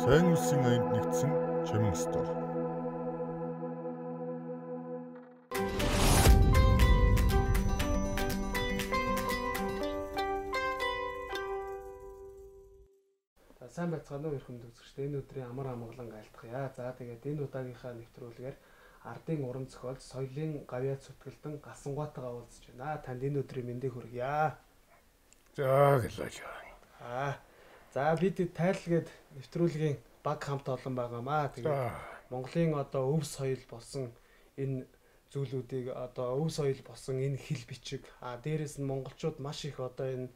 Сайн үлсийн аянд нэгдсэн Чамин стор. Сайн байцгаана уу эрхэм үзэгчдээ. Энэ өдрийн амар амгалан айлтгая. За тэгээд энэ удаагийнхаа нэвтрүүлгээр ардын уран зохиолч соёлын гавьяа зүтгэлдэн Галсангуайтайгаа уулзж байна. Танд энэ өдрийн мэндийг хүргье. За гэлээ. За бид тайлгээд нэвтрүүлгийн баг хамт олон байгаамаа. Тэгээд Монголын одоо өв соёл болсон энэ зүйлүүдийг одоо өв соёл болсон энэ хэл бичиг дээрэс нь монголчууд маш их одоо энэ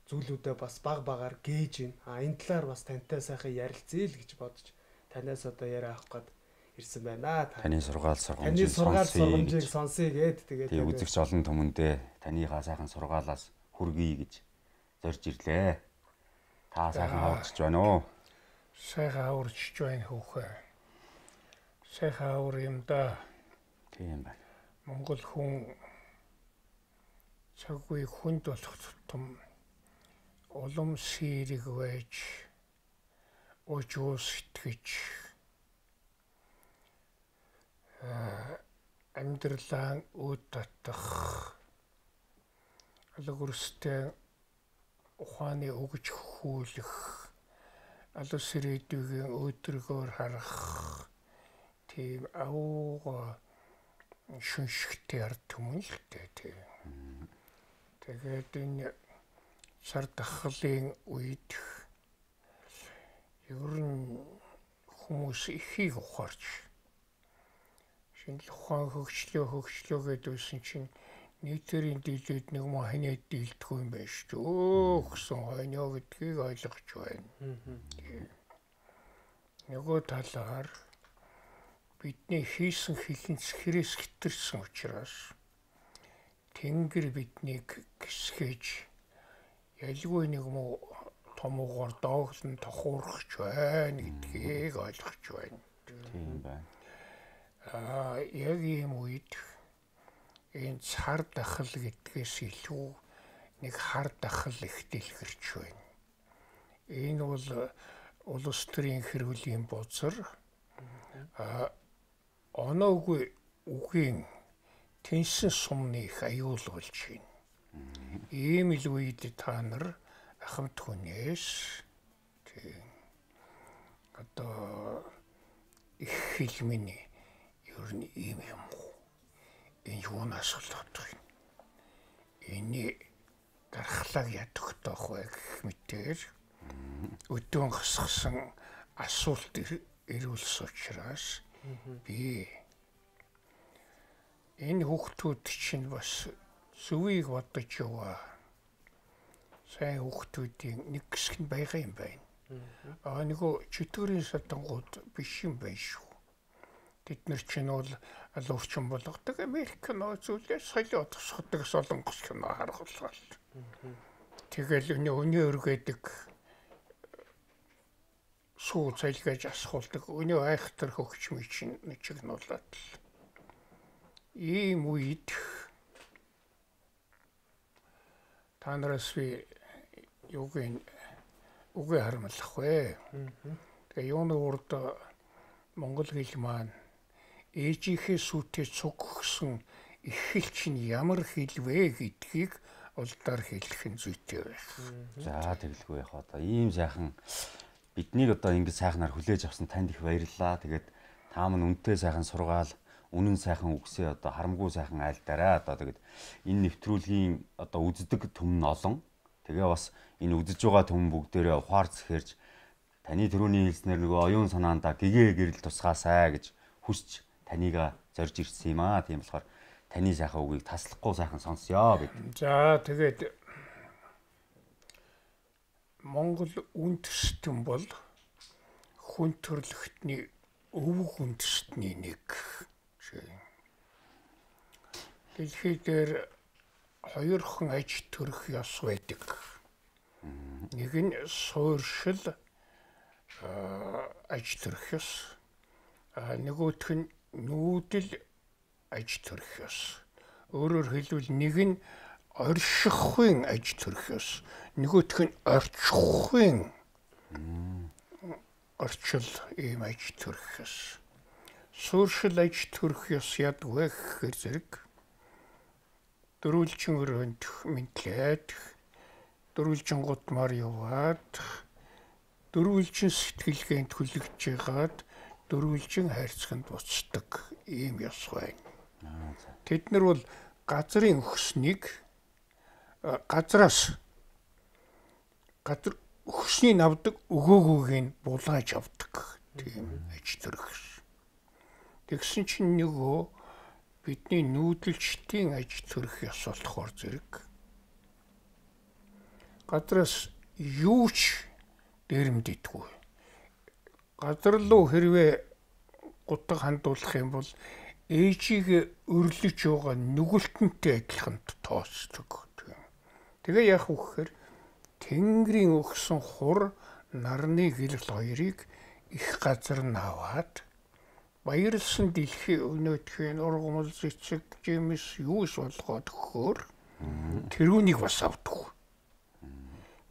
зүйлүүдээ бас баг багаар гээж байна. Энэ талаар бас тантай сайхан ярилцъя л гэж бодож танаас одоо яриа авах гээд ирсэн байна. Таны сургаал сургамжийг сонсъё гээд тэгээд үзэгч олон түмэндээ таныхаа сайхан сургаалаас хүргэе гэж зорж ирлээ. Та сайхан хаварчж байна уу? Сайхан хаварчж байна хөөхөө. Сайхан хавар юм да. Тийм байна. Монгол хүн цаггүй хүнд болох тутам улам сэрэг байж уужуус итгэж амьдралаа үд татах алгорстэй ухааны өгж хүүлэх алус ирээдүйн өдрөгөөр харах тийм ауга шүншигтэй ард түмэн л дээ. Тэгээд энэ сар дахлын үед ер нь хүмүүс ихийг ухаарч шинжлэх ухаан хөгжлөө гэдсэн чинь нийтэрийн дийлээд нэг махны дийлдэхгүй юм байна шүү дээ. Гэсэн хойноо гэдгийг ойлгож байна. Нөгөө талаар бидний хийсэн хилэнц хэрээс хитэрсэн учраас Тэнгэр биднийг гисгэж ялгүй нэг муу томгоор дооглон тохуурч байна гэдгийг ойлгож байна. Тийм байна. Яг ийм үед энэ цар дахал гэдгээс илүү нэг хар дахал их дэлгэрч байна. Энэ бол улс төрийн хэрүүлийн бузар оноогүй үгийн тэнсэн сумны их аюулгуулж байна. Ийм л үед та нар ахмад хүнээс одоо их хэлмэний ер нь ийм юм уу? Энэ юунаас болоод байна? Эний дархлааг ядахтайх бай гэх мэтээр өдөөн гасгсан асуулт ирүүлсэн учраас би энэ хүүхдүүд чинь бас зүвийг бодож яваа. Сайн хүүхдүүдийн нэг хэсэг нь байгаа юм байна. Нөгөө чөтгөрийн садангууд биш юм байна шүү. Тэд нар чинь бол алуурчин болгодог Америк кино зүйлээр соёлоо тусгадаг солонгос кино харгалгаа. Тэгэл өнөө өргөдөг суу цайлгаж асуулдаг өнөө айхтар хөгчмөй чинь чигнуулаад л. Ийм үед та нараас би үгүй харамлах вэ. Тэгээ юуны урд монгол хэл маань ээжийнхээ сүтээ цуггсан их хэл чинь ямар хэл вэ гэдгийг улдаар хэлэх нь зүйтэй байх. За тэгэлгүй яах одоо ийм сайхан биднийг одоо ингэж сайхнаар хүлээж авсан танд их баярлалаа. Тэгээд та мань үнэтэй сайхан сургаал үнэн сайхан үгсээ одоо харамгүй сайхан айлдаарай. Одоо тэгээд энэ нэвтрүүлгийн одоо үздэг түмэн олон. Тэгээ бас энэ үзэж байгаа түмэн бүгдээрээ ухаарц хэрж таны төрөний хэлснээр нөгөө оюун санаандаа гэгээ гэрэл тусгаасай гэж хүсч танийга зорж ирсэн юм аа. Тийм болохоор таны сайхан үгийг таслахгүй сайхан сонсё бид. За тэгээд Монгол үндэстэн бол хүн төрлөختний өвөг үндэстний нэг. Дэлхий дээр хоёрхан аж төрөх ёс байдаг. Нэг нь суурьшил аж төрөх ёс. Нөгөөх нь нүүдэл аж төрөх ёс. Өөрөөр хэлбэл нэг нь оршихуйн аж төрөх ёс. Нөгөөх нь орчихуйн орчил ийм аж төрөх ёс. Сууршил аж төрөх ёс ядгүй гэхээр зэрэг дөрвөлжин өрөөнд мэдлээд дөрвөлжин гутмаар яваад дөрвөлжин сэтгэлгээнд хүлэгж ягаад дөрвөлжин хайрцагт буцдаг ийм ёс байна. Тэд нар бол газрын өгснийг газраас газар өгснийг авдаг өгөөгүйг нь булааж авдаг тийм аж төрөх. Тэгсэн чинь нөгөө бидний нүүдэлчдийн аж төрөх ёс болохоор зэрэг газраас юу ч дээрэмддэггүй. Газар руу хэрвээ гутаг хандуулах юм бол ээжийг өрлөж байгаа нүгэлтэнтэй адилхан тооцдог. Тэгээ яах вэ гэхээр Тэнгэрийн өгсөн хур нарны гэрэл хоёрыг их газар нь аваад баярлсан дэлхий өнөөдхийн ургамал цэцэг жимс юус болгоод өгөхөөр тэрүүнийг бас авдаг.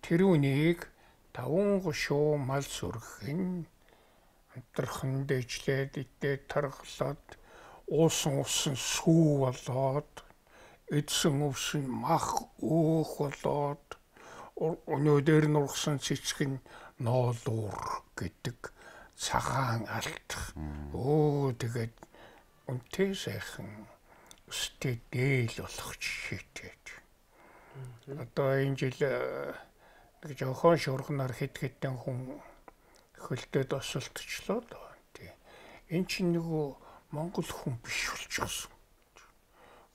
Тэрүүнийг 5 гушуу мал сүрхэн амтрхан дэжлээд идээд тархлаад уусан усан сүү болоод эдсэн өвсөн мах өөх болоод өнөөдөр нургасан цэцэг нь ноолуур гэдэг цагаан алт. Тэгээд үнтэй сайхан өстэй дээл болох жишээтэй. Одоо энэ жил нэг жоохон шуурганаар хэд хэдэн хүн хөлтөд осолтчлоо доо. Энэ чинь нөгөө Монгол хүн биш болчихсон.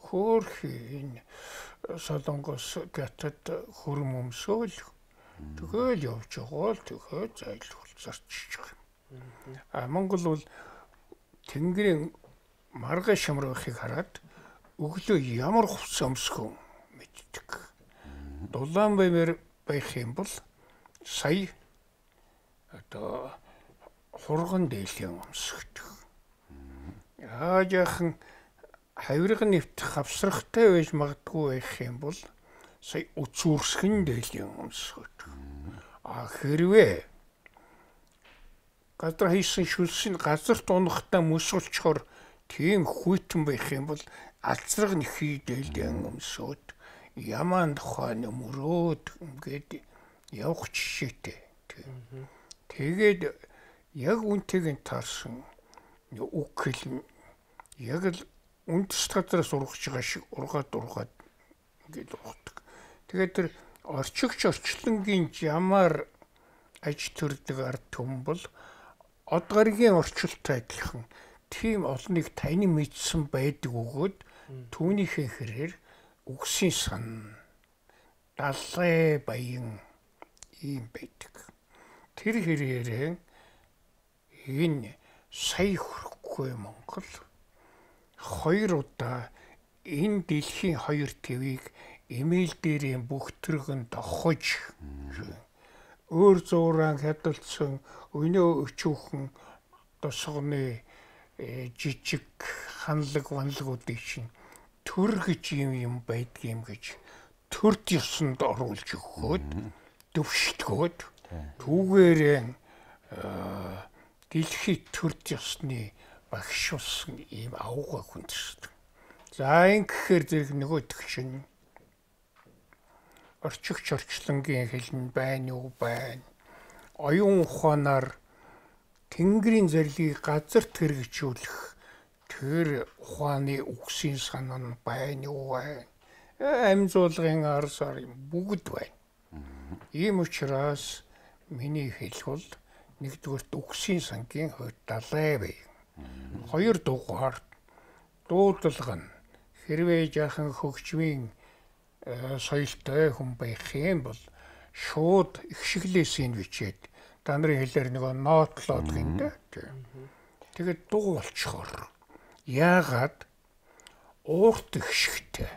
Хөөрхи энэ Солонгос гятад хөрм өмсөөл тэгэл явж байгаа л тэгээд зайлшгүй зарчиж байгаа. Монгол бол Тэнгэрийн маргай шамрахыг хараад өглөө ямар хувцас өмсгөө мэддэг. Дулаан баймаар байх юм бол сая одоо хурган дээлэн өмсгдөг. Яахан хавирга нэвт хавсрахтай байж магадгүй байх юм бол сая үцүүрсгэн дээлэн өмсгдөг. Хэрвээ газар хийсэн шүлсийн газарт унахтаа мөсөлчхөр тийм хүйтэн байх юм бол алцраг нэхий дээлэн өмсөд ямаан тухайн мөрөөд ингээд явах жишээтэй. Тэгээд яг үнтэйг таарсан үг хэл яг л үндэс газраас ургаж байгаа шиг ургаад ингээд ургадаг. Тэгээд тэр орчигч орчлонгийн ямаар аж төрдөг ард түмэн бол од гаригийн орчилтой адилхан тийм олныг тань мэдсэн байдаг өгөөд түүнийхээ хэрээр үгсийн сан далай баян ийм байдаг. Тэр хэрээрээ энэ сая хүрэхгүй Монгол 2 удаа энэ дэлхийн 2 твийг эмэйл дээрээ бүгтрэгэн дохож өөр зууран хядалцсан өнөө өчүүхэн тосгоны жижиг ханлаг ванлагуудыг чинь төр гэж юм байдгийм гэж төрд ёсонд оруулж өгөхөд төвшөлтгөөд түүгээрээ дэлхийд төрд ёсны багш болсон ийм авгаа хүндсдэг. За ингэхээр зэрэг нөгөөдөх чинь орчигч орчлонгийн хэлн байна уу байна. Оюун ухаанаар Тэнгэрийн зарлигийг газарт хэрэгжүүлэх тэр ухааны үгсийн санаа нь байна уу байна. Амьзуулгын арсаар бүгд байна. Ийм учраас миний хэлэх бол нэгдүгээрт үгсийн сангийн хувьд далай бай. 2 дугаар дуудлагын хэрвээ жаахан хөгжмийн соёлтой хүн байх юм бол шууд ихшиглээсийн бичээд та нарын хэлээр нөгөө нотлоод гинэ. Тэгээд дуу болчхоор яагаад уурт ихшигтэй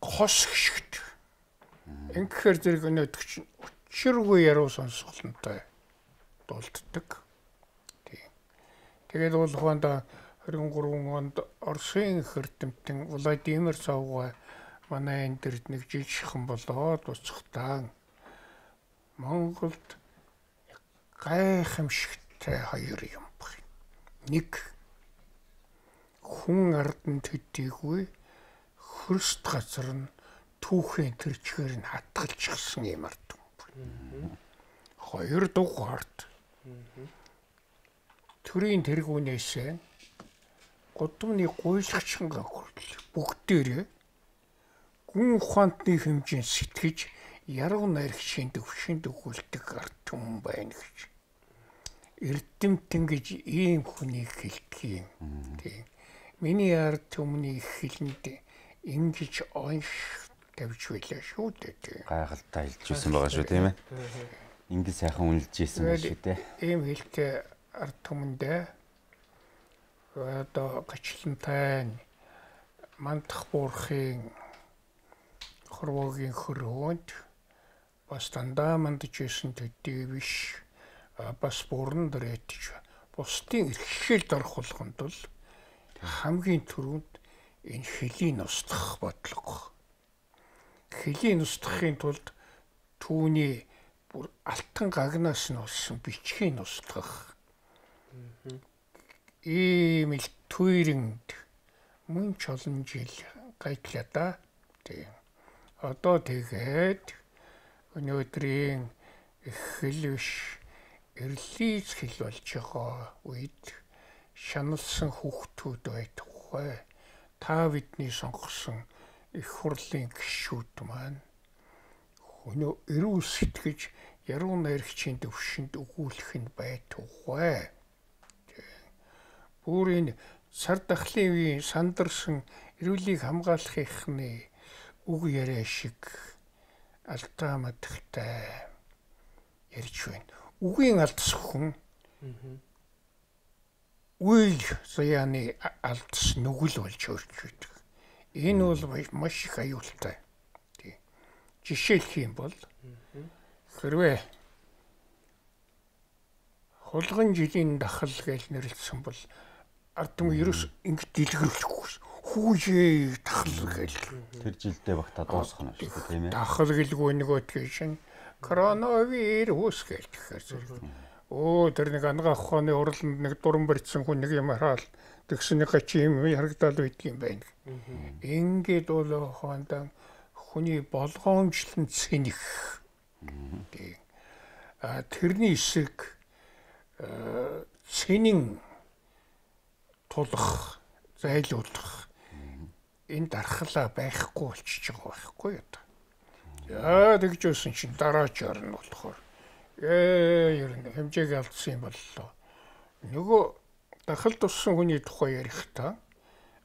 хос ихшигт ингэхээр зэрэг өнөөдөр чинь учиргүй яруу сонсголонтой дуулддаг. Тэгээд бол ухаанда 23 онд Оросын эрдэмтэн Владимир Цауга манай энэ дэрд нэг жижигхэн болоод уцхтаа Монголд гайхамшигтай хоёр юм байна. Нэг хүн ардан төдийгүй хөрст газар нь түүхийн төрчгээр нь хатгалчихсан юм ард юм. Хоёр дугаарт төрийн тэргүүнээс гудамны гуйлагчингаа хүртэл бүгдээрээ гүн ухаантны хэмжээнд сэтгэж яруу найрагчийн төвшөнд өгүүлдэг ард түмэн байна гэж. Эрдэмтэн гэж ийм хүнийг хэлдэг юм. Тийм. Миний ард түмний хэлэнд ингэж онш тавьж байлаа шүү дээ. Гайхалтай хэлж ирсэн байгаа шүү тийм ээ. Ингэ сайхан үнэлж ирсэн байна шүү дээ. Ийм хэлтэй ард түмэндээ одоо гачлантай мандах буурахын хорвогийн хөрөөнд бас дандаа мандаж исэн төдий биш бас бүрэн дээрэтж бусдын эрхлэлд орох болгонд бол хамгийн түрүүнд энэ хөлийн устгах бодлого. Хөлийн устгахын тулд түүний бүр алтан гагнаас нь олсон бичгийн устгах. Ийм л түүрэнд мөн ч олон жил гайтлаа да. Тийм. Одоо тэгээд өнөөдрийн хэл биш эрлийц хэл болж байгаа үед шаналсан хүүхдүүд байтугай та бидний сонгосон их хурлын гишүүд маань өнөө эрүү сэтгэж яруу найрагчийн төвшөнд өгүүлэх нь байтугай. Бүрийн сар дахлын үеийн сандарсан эрүүлийг хамгаалахын үг яриа шиг алдаа мадагтай ярьж байна. Үгийн алдас хүн үйл заяаны алдас нүгэл болж өрч байдаг. Энэ бол маш их аюултай. Жишээлх юм бол хэрвээ хулган жилийн дахал гэж нэрлсэн бол ард түмэн ерөөс ингэ дэлгэрүүлэхгүй. Хүүжээ дахал гэж. Тэр жилдээ багтаа дуусах нь шүү дээ тийм ээ. Дахал гэлгүй нөгөө тийм коронавирус гэхээр зэрэг. Оо тэр нэг ангаах ухааны уралд нэг дуран барьсан хүн нэг юм хараал тэгсэн нэг чи юм харагдал байдгийн байна. Ингээд бол хоондан хүний болгоомжлон цэнэх. Тэрний эсрэг цэнийн тулах, зайлуулах энэ дархлаа байхгүй болчихж байгаа байхгүй юу? Яа тэгж өсөн чинь дараачаар нь болохоор ер нь хэмжээг алдсан юм боллоо. Нөгөө дахал туссан хүний тухай ярихдаа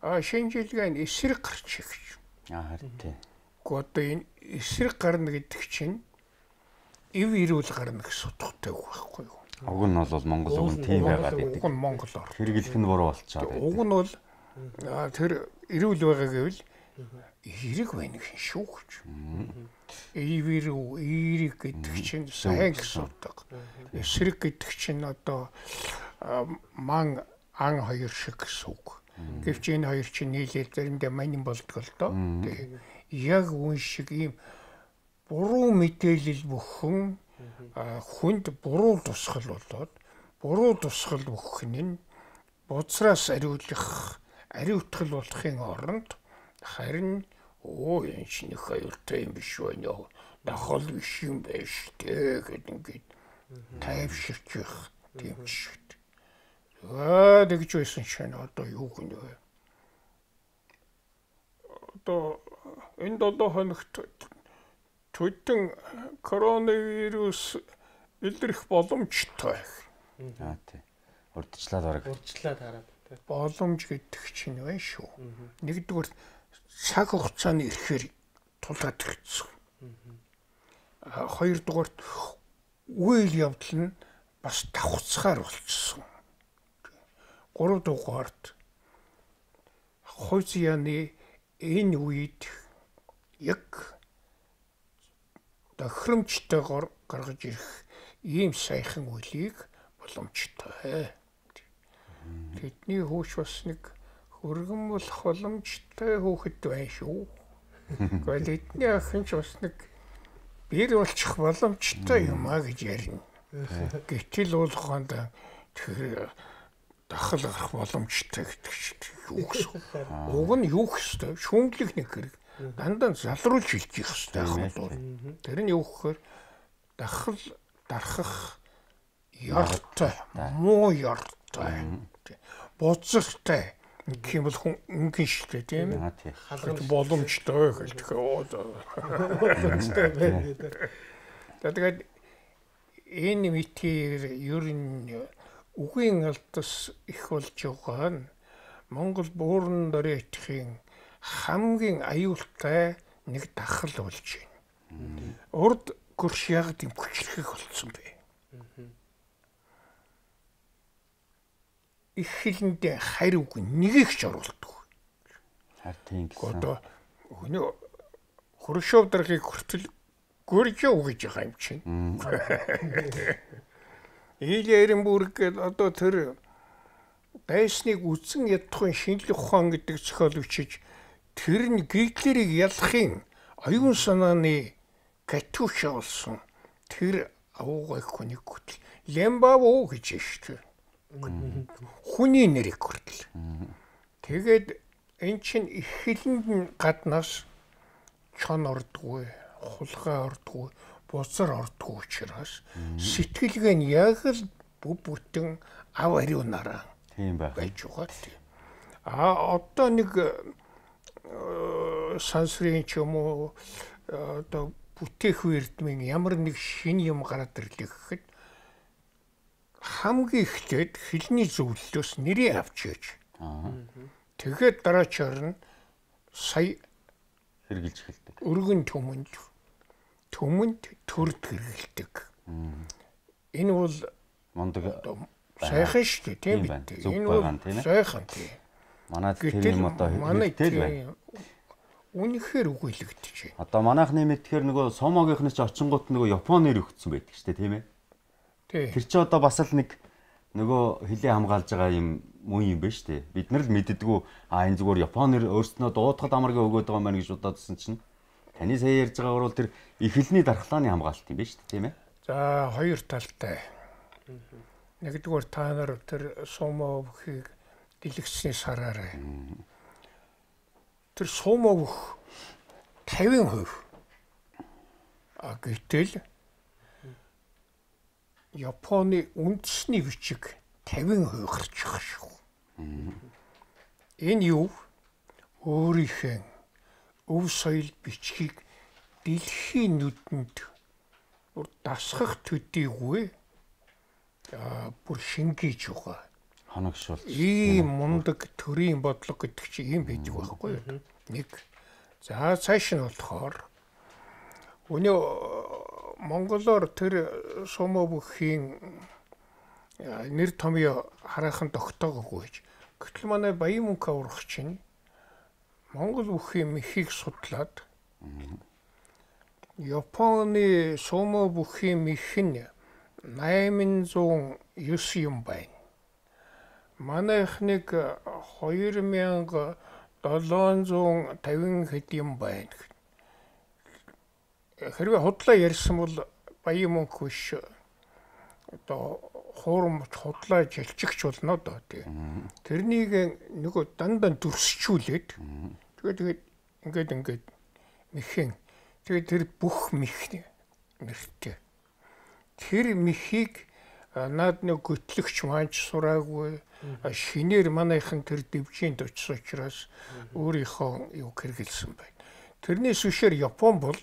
шинжилгээ нь эсрэг гарч ирэх. Харин тийм. Одоо энэ эсрэг гарна гэдэг чинь ив ирүүл гарна гэсэн утгатай байхгүй юу? Уг нь бол Монгол уг нь тийм байгаад байдаг. Уг нь монголоор. Хэрэглэх нь буруу болчиход байдаг. Уг нь бол тэр ирүүл байгаа гэвэл эрэг байна гэх шүү гэж. Ивэрүү эрэг гэдэг чинь сайн гэсэн утга. Эсрэг гэдэг чинь одоо ман ан хоёр шиг гэсэн үг. Гэвч энэ хоёр чинь нийлээд заримдаа манин болдог л доо. Яг үн шиг ийм буруу мэдээлэл бүхэн хүнд буруу тусгал болоод буруу тусгал өгөх нь бодсоос ариутгал болохын оронд харин энэ ч нэг аюултай юм биш байна. Дахал биш юм байж тээ гэдэг ингээд тайвширч их тийм шиг. Тэгж байсан чинь одоо юу гэнэ вэ? Одоо энэ 7 хоногт төдөн коронавирус илэрх боломжтой. Тийм. Урдчлаад бараг. Урдчлаад хараад. Боломж гэдэг чинь байна шүү. Нэгдүгээр цаг хугацааны ирэхээр тулаад ирсэн. Хоёрдугаарт үйл явдал нь бас давхцахаар болчихсон. Гуравдугаарт хойцяаны энэ үед яг тохиромжтойгоор гаргаж ирэх ийм сайхан үлийг боломжтой. Тэдний хөөш бас нэг хөргөн болох боломжтой хөөхд байна шүү. Гэхдээ эдний охин ч бас нэг бэр болчих боломжтой юм а гэж ярина. Гэтэл бол хонд тэр дахал гарах боломжтой гэдэг чинь юу гэсэн. Уг нь юу гэхтэй шүүмжлэх нэг хэрэг. Дандаа залруулж хэлж их хэвээр бол. Тэр нь юу гэхээр дахал дарахах ёртой, муу ёртой, боцортой гэх юм бол хүн үнгийн шүү дээ тийм ээ. Халах боломжтой гэж тэгээд энэ мэтэр ер нь үгийн алдас их болж байгаа нь Монгол бууран дөрэтхийн хамгийн аюултай нэг дахал болж байна. Урд гөрш яг тийм хүчлэх болсон бэ. Их хэлэндээ хариуг нэгийг ч оруулдаг. Харин гэсэн. Одоо өнөө Хрущев дарахыг хүртэл гөржөө гэж байгаа юм чинь. Илэрэнбург гэдэг одоо тэр байсныг үсэн ядахын шинжлэх ухаан гэдэг зохиол бичиж тэр нь Гитлерийг ялахын оюун санааны катюша болсон. Тэр авуугай хүнийг хөтл Лембаво гэж шүү. Хүний нэрийг хүртэл. Тэгээд эн чинь их хэлэнд гаднаас чон ордгүй, хулгай ордгүй, бузар ордгүй учраас сэтгэлгээ нь яг л бүтэн ав ариунаараа тийм байж байгаа. Одоо нэг сансрын ч юм уу одоо бүтээх эрдмийн ямар нэг шин юм гараад ирлээ гэхэд хамгийн ихтэйд хэлний зөвлөлөөс нэрийг авчиж. Тэгээд дараачаар нь сая хэрэгжилж эхэлдэг. Өргөн төмөнд төрд хэрэгэлдэг. Энэ бол Мондөг сайхан шүү дээ тийм үү? Энэ бол сайхан тийм. Манайд тэр юм одоо хэрэгтэй байна. Үнэхээр үгүйлэгдэж байна. Одоо манайхны мэдхээр нөгөө Сомогийнхны ч очингууд нөгөө Японы нэр өгсөн байдаг шүү дээ тийм ээ. Тэр чи одоо бас л нэг нөгөө хилээ хамгаалж байгаа юм мөн юм байна шүү дээ. Бид нар л мэддэггүй энэ зүгээр Японоор өөрснөө дуудахад амаргаа өгөөд байгаа юм байна гэж бодоодсэн чинь таны сая ярьж байгаагаар бол тэр их хэлний дархлааны хамгаалалт юм байна шүү дээ тийм ээ. За хоёр талтай. Нэгдүгээр та нар тэр Сумо бүхийг дэлгэцний сараарай. Тэр Сумо бүх 50%. Гэтэл Японы үндэсний бичиг 50% гарч байгаа шүү. Энэ юу? Өөрийнхөө өв соёл бичгийг дэлхийн нүдэнд дасгах төдийгүй бүр шингээж байгаа. Хоногшуул. Ийм мундаг төрийн бодлого гэдэг чинь ийм байдаг байхгүй юу? Нэг. За цааш нь болохоор өнөө Монголоор тэр Сумо бүхийн нэр томьёо хараахан тогтоогоогүй гэж. Гэтэл манай Баян мөнх аврах чинь Монгол бүхийн мэхийг судлаад Японы Сумо бүхийн мэх нь 809 юм байна. Манайхныг 2750 хэд юм байна. Хэрвээ худлаа ярьсан бол Баян мөнх биш одоо хуурамч худлаа жилчигч болно доо тий. Тэрнийг нөгөө дандаа дүрсчүүлээд тэгээд ингээд мэхэн тэгээд тэр бүх мэх нэртэй. Тэр мэхийг наад нэг готлөгч маань сураагүй шинээр манайхан тэр дэвжинд очсон учраас өөрийнхөө юу хэрэгэлсэн байна. Тэрнээс үшээр Япон бол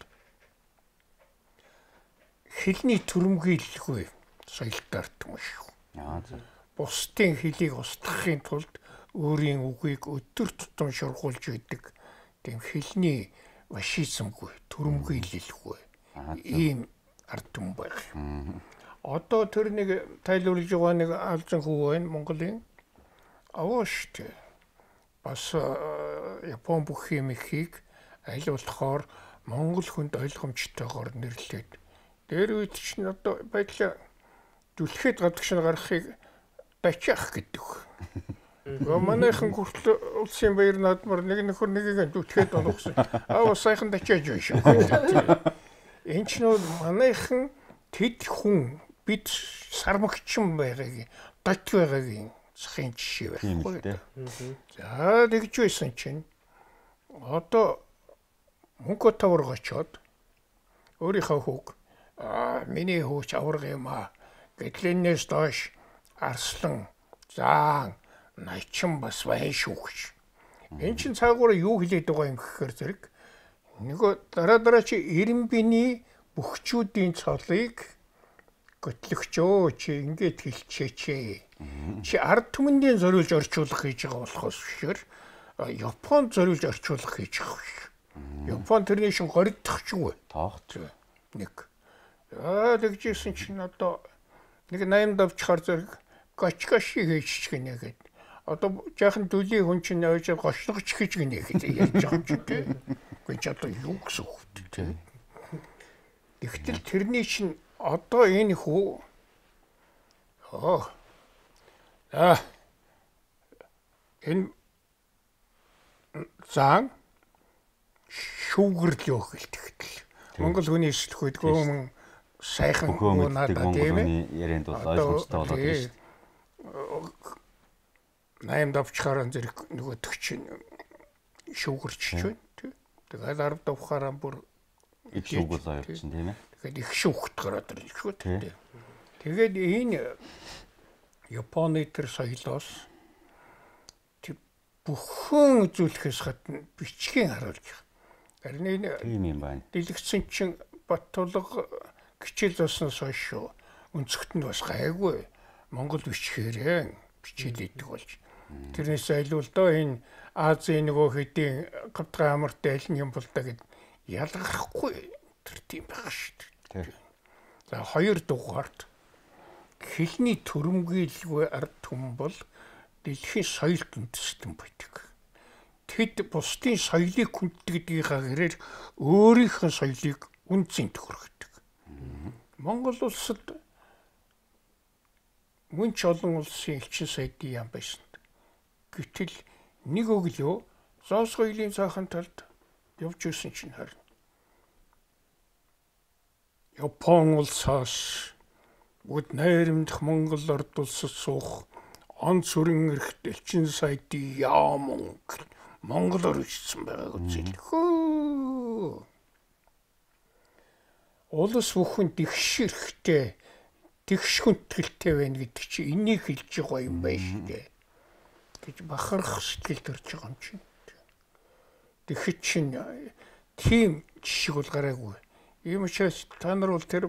хэлний төрөмгийлэлгүй соёлтой юм шүү. Бусдын хэлийг устгахын тулд өөрийн үгийг өдөр тутам шургуулж өгдөг тийм хэлний фашизмгүй, төрөмгийлэлгүй ийм ард түмэн байх. Одоо тэр нэг тайлбарлаж байгаа нэг алзан хүү байна Монголын. Авааштай. Бас Япон бүхий мэхийг аль болохоор Монгол хүнд ойлгомжтойгоор нэрлээд дээр үед чинь одоо байдлаа дүлхэд гадагш гарахыг бачаах гэдэг. Манайхан хүртэл улсын баяр наадмаар нэг нөхөр нэгийг дүлхэд болгосон. Сайхан дачааж байна шүү. энэ ч нөө манайхан тэд хүн бид сармагчин байгааг дот байгааг захын жишээ байхгүй. За тэгж байсан чинь одоо мөнгө тавар очоод өөрийнхөө хүүг миний хүүч авраг юм аа гэдлэнээс доош арслан заан найчин бас байна шүү гэж. Энэ чинь цаагаараа юу хэлээд байгаа юм гэхээр зэрэг нөгөө дараа чи Ирэмбиний бөхчүүдийн цолыг готлогчөө чи ингээд хэлчихээч. Чи ард түмэндээ зориулж орчуулах хийж байгаа болохоос бишээр Японд зориулж орчуулах хийж байгаа биш. Япон тэрний шин горигдох ч үгүй. Тоогч. Нэг. Тэгжсэн чинь одоо нэг 80 давчхаар зэрэг гочгоши хийчих гинэ гээд. Одоо жаахан дүлийн хүн чинь ойж гочлогч хийж гинэ гэж ярьж байгаа юм чи тээ. Гүн ч одоо юу гэсэн үг тээ. Тэгтэл тэрний шин одоо энэ хүү энэ зан шүүгэрл юу хэлтгэл. Монгол хүний сэтгүүлгүй юм сайхан хөө надад тийм ээ. Ярианд бол ойлгомжтой болоод байна шүү дээ. 8 давчхаараа зэрэг нөгөө төгчин шүүгэрч байна тийм. Тэгээд 10 давхаараа бүр их шүүгэл хоёр чинь тийм ээ. Тэгээд их шүүхт гараад ирж шүү дээ. Тэгээд энэ Японы тэр соёлоос бүхэн үзүүлэхээс гадна бичгийн харуулж байгаа. Харин энэ Тийм юм байна. дэлгэцэн чинь Баттулга кичил засноос хойш өнцөгт нь бас гайгүй Монгол бичгээрээ бичил идэг болж. Тэрнээс айлуул доо энэ Азийн нөгөө хэдийн гавтгай амартай аль нь юм бол та гэд ялгархгүй тэр тийм байх шүү дээ. За 2 дугаарт хэлний төрөмгийлгүй ард түмэн бол дэлхийн соёл гүндэстэн байдаг. Тэд бусдын соёлыг хүндэгдгийнхаа гэрээр өөрийнхөө соёлыг үнцэн төхөргөдөг. Монгол улсад мөн ч олон улсын элчин сайдын яам байсан. Гэтэл нэг өглөө зоос соёлын цаахан талд явж ирсэн чинь харин Япон улсаас бүгд найрамдах Монгол ард улсад суух он сүрэн эрхт элчин сайдын яам Монголоор ирсэн байгааг үзэлхөө. Улс бүхэн тэгшэрхтэй тэгш хүндгэлтэй байна гэдэг чи энийг хэлж байгаа юм байна шүү дээ. Гэж бахарх сэтгэл төрж байгаа юм чинь. Тэгэхэд чинь тийм жишг бол гараагүй. Ийм учраас та нар бол тэр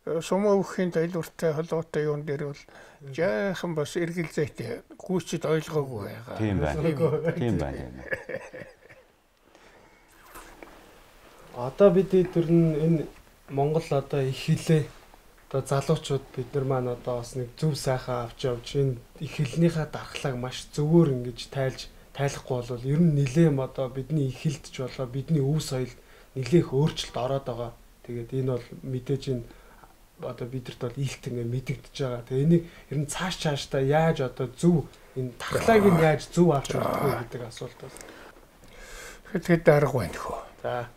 сумовхийн тайлбартай холбоотой юун дээр бол жаахан бас эргэл зайтай гүйцэд ойлгоогүй байгаа. Тийм байна. Тийм байна. Одоо бид тэр энэ Монгол одоо их хилээ одоо залуучууд бид нар маань одоо бас нэг зөв сайхан авч явж энэ их хилнийхээ дархлааг маш зөвөр ингэж тайлахгүй бол ер нь нилэм одоо бидний их хилдч болоо бидний өв соёл нилээх өөрчлөлт ороод байгаа. Тэгээд энэ бол мэдээж энэ одоо бидэрт бол ийхт ингэ мэдэгдэж байгаа. Тэгээ энийг ер нь цаашдаа яаж одоо зөв энэ дархлааг нь яаж зөв авч явах вэ гэдэг асуулт байна. Тэгэхээр дарга байна хөө. За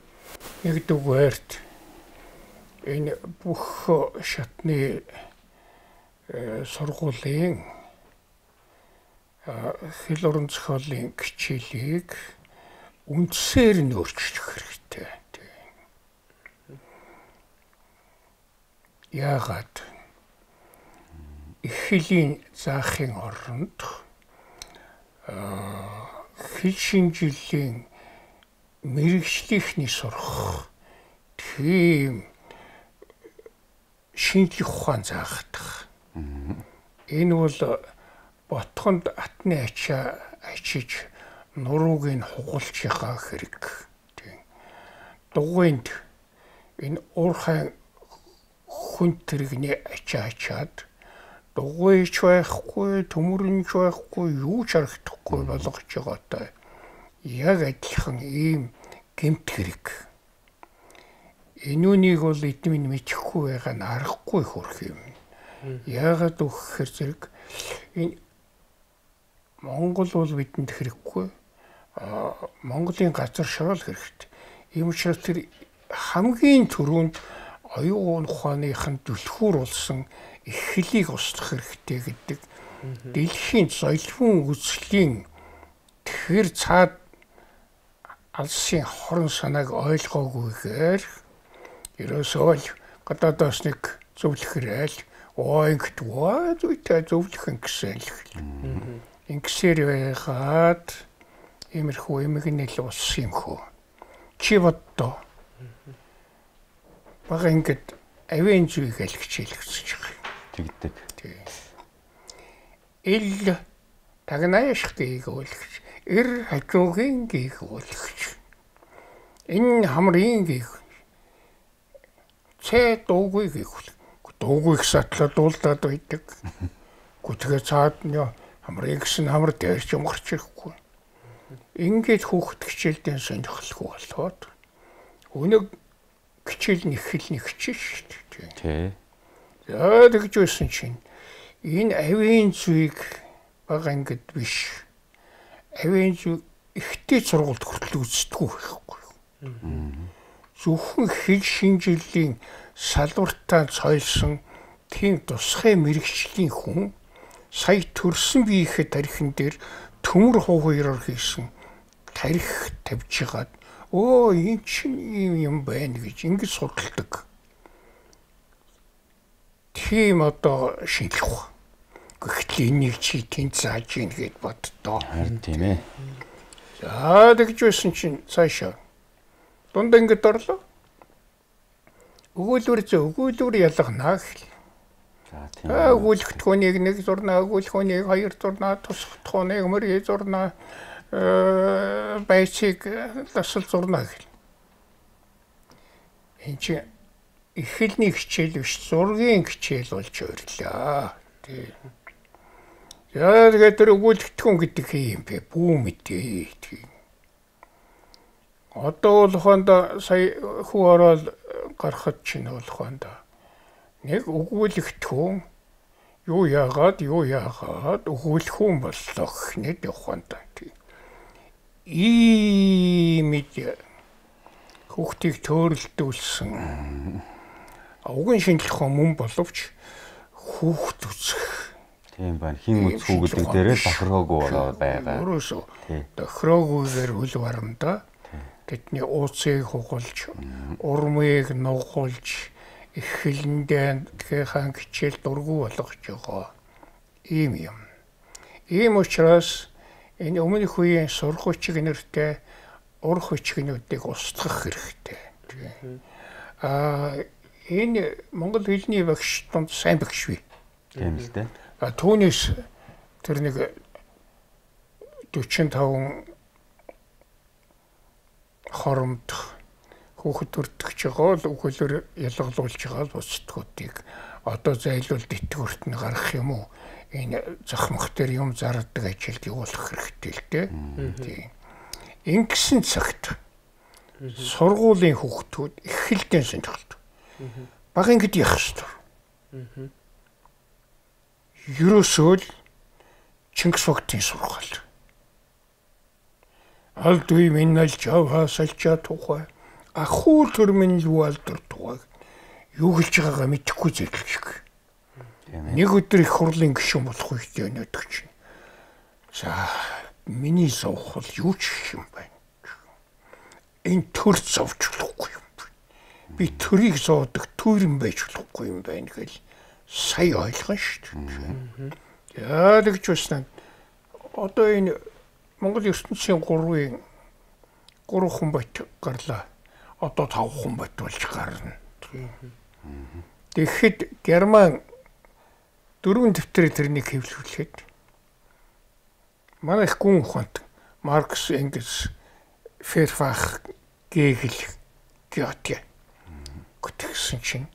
нэгдүгээрт энэ бүх шатны сургуулийн хэл орон зохиолын хичээлийг үндсээр нь өөрчлөх хэрэгтэй. Яагаад их хэлийн заахын оронд хэл шинжилгээний мэрэгчлийнхний сурах тийм шинжлэх ухаан заахдах. Энэ бол ботхонд атны ачаа ачиж нурууг нь хугалж яхаа хэрэг. Дугуйнд энэ уурхай хүн тэрэгний ачаачаад дугуйч байхгүй, төмөрөнч байхгүй, юу ч харагдахгүй болгож байгаатай. Яг адилхан ийм гэмт хэрэг. Энүүнийг бол эдмийн мэдхгүй байгаа нь аргагүй хөрх юм. Яагаад өгөхөр зэрэг энэ Монгол бол бидэнд хэрэггүй. Монголын газар шорол хэрэгтэй. Ийм учраас тэр хамгийн түрүүнд оюун ухааныхын түлхүүр болсон эхлэлийг устгах хэрэгтэй гэдэг дэлхийн золион үзлийн тэр цаад алсын хорон санааг ойлгоогүйгээр ерөөсөө л гадаадаас нэг зөвлөхөрэл ингээд зүйтэй зөвлөх гэсэн л ингэсээр байгаад иймэрхүү эмгэнэл ус юм хөө чи боддоо бага ингээд авийн зүйг л хичээлгэж байгаа тэгдэг ил тагнааш гээгүүлж эр хажуугийн гээгүүлж энэ хамрын гээг цэ дуугүй гээгүүл дуугүй сатлаа дуулдаад байдаг гүтгээ цаад нь хамрын гэсэн хамар дээр ч умгарч ирэхгүй ингээд хүүхэд хичээлдээ сонирхолгүй болоод өнөг хичээл нэг хичээл шүү дээ тий яа тэгж байсан чинь энэ авийн зүйг бага ингээд биш авийн зүй ихтэй сургуульд хүртэл үзтгүү байхгүй зөвхөн хэл шинжиллийн салбартаа цойлсон тийм тусгай мэрэгчлийн хүн сая төрсөн биеийнхээ тархин дээр төмөр хуваараар хийсэн тарих тавьж хагаад энэ чинь юм байна гэж ингэж судалдаг. Тийм одоо шинжлэх ухаан. Гэхдээ энийг чи тэнд зааж ийн гэд боддоо. Харин тийм ээ. За тэгж байсан чинь цаашаа дунд ингэж орлоо. Өгүүлбэр ялгана гэх. За тийм. Өгүүлбэртхүүнийг нэг зурнаа, өгүүлбэрхүүнийг хоёр зурнаа, тусгатхүүнийг мөрий зурнаа, байцыг тасал зурнаа гэх. Энд чи эхлэлний хичээл биш, зургийн хичээл болж ойрлоо. Тий. Яа тэгээд тэр өгүүлбэртхүүн гэдэг юм бэ? Бүү мэдээ. Тий. Одоо бол хонд сая хүү ороод гарахад чинь бол хонд нэг өгүүлэгдэхүүн юу яагаад өгүүлэхүүн боллоо гэхнэд яваханд ийм хүүхдийг төөрөлдүүлсэн уган шинжлэх ухаан мөн боловч хүүхд үзэх тийм байна хин үзхүү гэдэг дээрээ тохироогүй байгаа. Өөрөөсөө тохироогүйгээр хөл барамдаа тэдний ууцыг хугалж, урмыг нугуулж, эхлэндээ тэгэхээр хичээл дургүй болгож байгаа. Ийм юм. Ийм учраас энэ өмнөх үеийн сургуульчиг нэртэй урах хүчгнүүдийг устгах хэрэгтэй. Энэ монгол хэлний багш донд сайн багш бий. Тийм л дээ. Түүнээс тэр нэг 45 хоромд хүүхэд төртөгч байгаа л өгүүлбэр ялгалуулж байгаа л бусдгуудыг одоо зайлуулд итгэвэрт нь гарах юм уу энэ захмах дээр юм зардаг ажилд явуулах хэрэгтэй л дээ. Тийм. Ингэсэн цагт сургуулийн хүүхдүүд эхэлдэн сонирхолтой. Бага ингэж яах ёстой. Ерөөсөө л Чингис Багтын сургаал. Алдгүй минь жава салчаа тухай ахуй төрмөн юу алдар тухай юу хэлж байгаагаа мэдэхгүй зэрлэг шиг. Нэг өдөр их хурлын гишүүн болох үедээ өнөдөг чинь. За миний сувх бол юу ч юм байна. Энэ төр зовж болохгүй юм. Би төрийг зоодог төрөн байж болохгүй юм байна гэл сая ойлгон шүү дээ. Яа тэгж байна. Одоо энэ Монгол ертөнцийн 3 хүн бат гарлаа. Одоо 5 хүн бат болж гарна. Тэгэхэд Герман 4 дэвтрээ тэрнийг хэвлүүлээд манай их гүн ухаант Маркс, Энгельс, Ферфах, Гегел, Гёте гэтгсэн чинь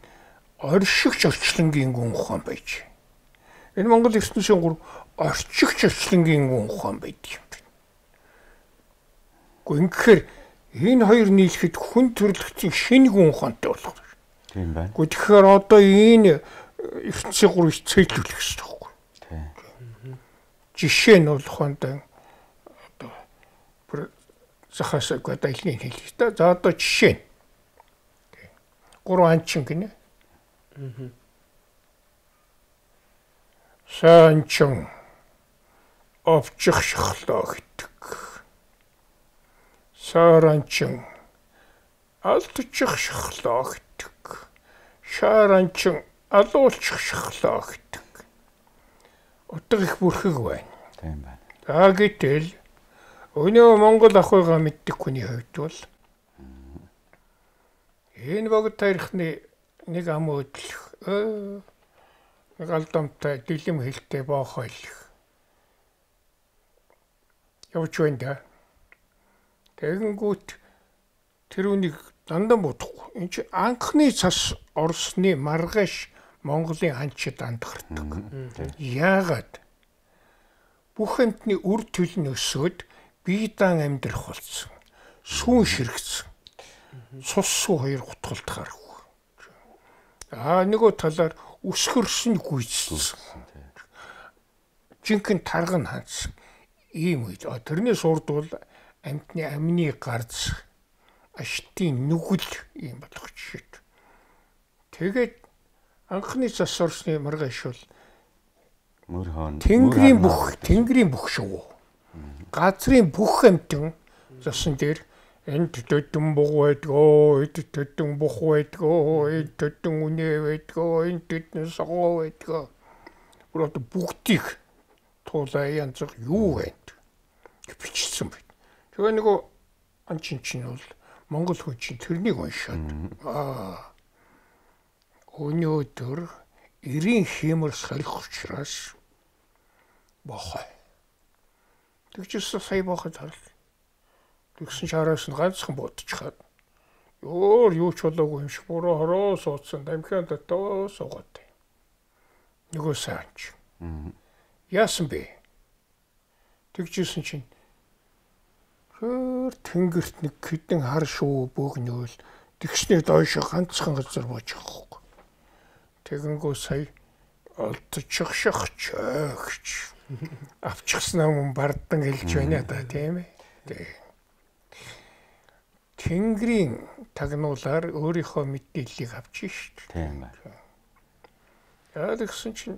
оршигч орчлонгийн гүн ухаан байж. Энэ Монгол ертөнцийн 3 орчигч орчлонгийн гүн ухаан байдаг юм. Гэхдээ энэ хоёр нийлэхэд хүн төрөлхтний шинэ гүн ухаантай болох. Тийм байна. Тэгэхээр одоо энэ ертөнцийн 3-ыг цэглүүлэх хэрэгтэй байхгүй. Тийм. Жишээ нь бол хондоо одоо захаас гадаалны хэлэх та. За одоо жишээ нь 3 анчин гинэ. Санчин овчих шахлаа гэдэг. Саранчин алдчих шахлаа гэдэг. Шаранчин алуулчих шахлаа гэдэг. Утга их бүрхэг байна. Тийм байна. За гэтэл өнөө Монгол ахуйгаа мэддэг хүний хувьд бол энэ богд тарихны нэг ам өдлөх нэг алдамтай дэлгэм хэлтэй боохойлох явж байна да. Тэгэнгүүт тэр үнийг дандаа бодохгүй. Энд чи анхны цас Оросны маргааш Монголын ханчид андгардаг. Яагаад? Бүх амтны үр төлн өсөөд бие даан амьдрах болсон. Сүүн ширэгцэн. Цус суу хоёр гутгалд гарах. Нөгөө талаар өсгөрсөн гүйцсэн. Жинхэнэ тарган хандсан. Ийм үед тэрнээс урдвал амтны амны гарц аштын нүгэл ийм болох жишээ. Тэгээд анхны цас Оросны маргааш бол Тэнгэрийн бүх шүү. Газрын бүх амтэн засан дээр энд төдөн буг байдгаа, энд төдөн бух байдгаа, энд төдөн үнэ байдгаа, энд төдөн согоо байдгаа. Бүрээд бүгдийг туулаа янз бүр юу байна бичсэн байна. Тэгээ нөгөө анчин чинь бол Монгол хүн чинь тэрнийг уншаад өнөөдөр 90 хэмэр салхи учраас бохоо. Тэгчээс сая бохоо тал. Тэгсэн чараас нь ганцхан бодчихад юу ч болоогүй юм шиг буруу хороо суудсан дамхиан дотоо суугаад. Нөгөө саач. Яасан бэ? Тэгжсэн чинь тэнгэрт нэг хэдэн хар шуу бөөгнөөл тэгснээр доош ганцхан газар бууж байгаа. Тэгэнгөө сая олдчих шахчаач. Авчихснаа мөн бардан хэлж байна да тийм ээ. Тэнгэрийн тагнуулаар өөрийнхөө мэдээллийг авчих шүү дээ. Тийм байна. Яа гэсэн чинь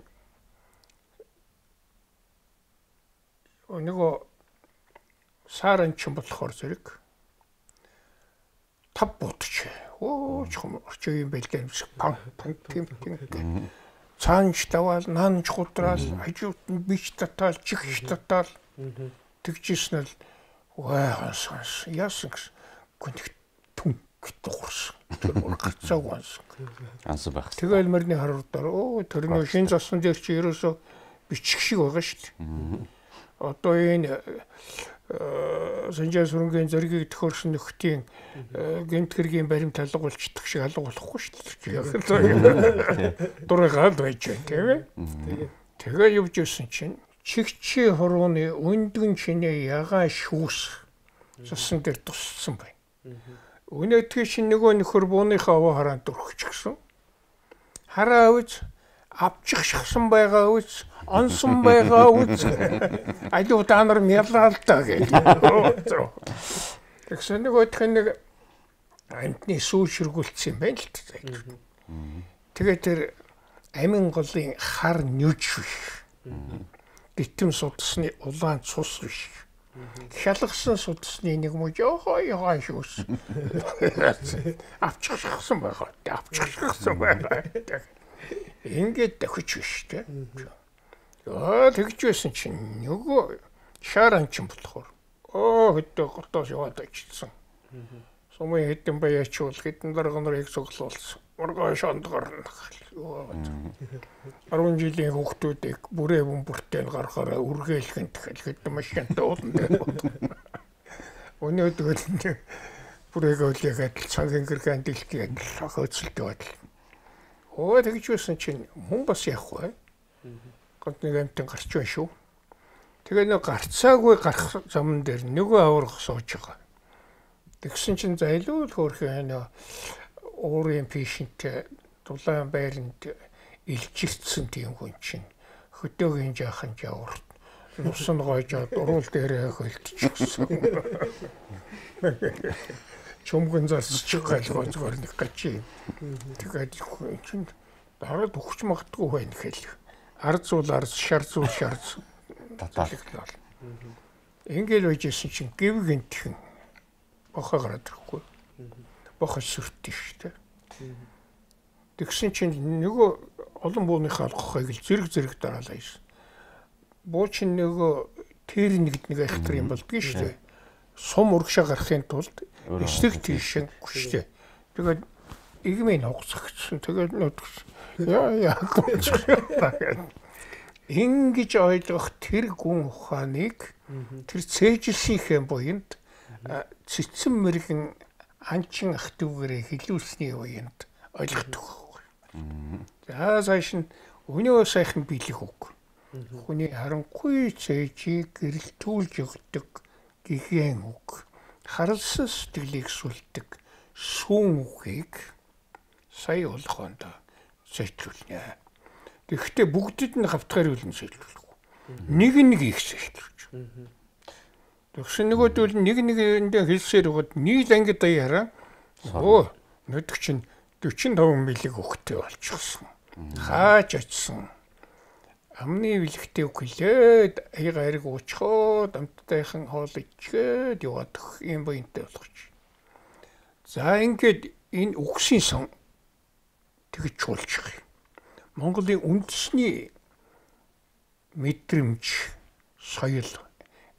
нөгөө саранчин болохоор зэрэг тав бутч. Чом орчоо юм байл гэмсэг пан тийм. Цаанч даваал наанч гудраал хажууд нь бич татаал чихш татаал тэгжсэн л ханс яасан гэсэн гүнх түн дуурсан. Тэр гацааг вансан. Анс байх. Тэгэл мөрний харуудаар тэрний шин засан дээр чи ерөөсө бичих шиг байгаа шүү дээ. Одоо энэ Санжаа сүрэнгийн зэргийг төхөрсөн нөхдийн гэмт хэргийн баримт алга болчихдаг шиг алга болохгүй шүү дээ. Дураагаад байж байна тийм ээ. Тэгээ явж ирсэн чинь чигчи хорооны өндгөн чинээ ягаа шүүс засан дээр туссан байна. Өнөөдөр чинь нөгөө нөхөр бууныхаа аваа хараанд өрхөчихсөн. Хараа үз авчих шахсан байгаа үз онсон байгаа үз аюу та нар мялал та гэж. Тэгсэн нөгөө нэг амтны сүү ширгүүлсэн юм байна л та. Тэгээд тэр амин голын хар нүж биш. Битэм судасны улаан цус биш. Хялгсан судасны нэг муу ягаа шүүс. Авчих шахсан байгаа. Авчих шахсан байгаа. Ингээд дахиж биш тэ. Тэгж байсан чинь нөгөө шаранчин болохоор хөдөө гортоос яваад очсон. Сумын хэдэн баяачул хэдэн дарганыг цуглуулсан. Ургааш ондгорно. 10 жилийн хүүхдүүдийг бүрээ бөмбөртэй гаргахаараа үргэлхэн тэгэл хэдэн машинтай уулна. Өнөөдөр бүрээ гөлийгээд цагийн гэрхэн дэлхийд хөөцөлтэй байтал. Тэгж байсан чинь хүн бас явах бай. Гот нэг амтан гарч байна шүү. Тэгээ нэг гарцаагүй гарах зам дээр нөгөө аврах сууж байгаа. Тэгсэн чинь зайлуул хөөрхөн уурын пишинтэй дулаан байранд илчирсэн тийм хүн чинь хөдөөгийн жаахан жаврт нусан гойжоод уруул дээрээ хөлтчихсэн. чөмгөн залсчих гал зүгээр нэг гачи. Тэгээд чинь дараад өгч магадгүй байна хэл. Ард зул ард, шар зул шар. Татаалал. Ингээл байжсэн чинь гів гинтхэн бохоо гараад ирэхгүй. Бохоо сүртээ штэ. Тэгсэн чинь нөгөө олон бууныхаа алгахыг л зэрэг дараалаа юм. Буу чинь нөгөө тэр нэг айхтар юм болдгийг штэ. Сум урагшаа гарахын тулд эсрэг тийшэн гүштэй. Тэгээд игмийн хугацагчсан. Тэгээд яа ингэж ойлгох тэр гүн ухааныг тэр цээжилсийнхээ буйнд цэцэн мэрэгэн анчин ах дүүгээрээ хилүүлсний буйнд ойлгох байхгүй. За цааш нь өнөө сайхан биелэх үг. Хүний харанхуй цээжийг гэрэлтүүлж өгдөг гихэн үг. Харалсан сэтгэлийг сүлдэг сүүн үгийг сая болгоонд зэтлүүлнэ. Тэгэхдээ бүгдэд нь хавтгаар үлэн зэтлүүлэхгүй. Нэг их зэтлүүлж. Тэгсэн нөгөөдөл нэгэндээ хэлсээр өгöd нийл ангид даяараа нүдэг чинь 45 милиг өгтэй болчихсон. Хааж очсон. Амны бэлэгтэй өглөөд аяга ариг уучхоо дамттайхан хоол ичгээд яваад юм буянтай болгоч. За ингээд энэ үгсийн сон тэгж чуулчих юм. Монголын үндэсний мэдрэмж соёл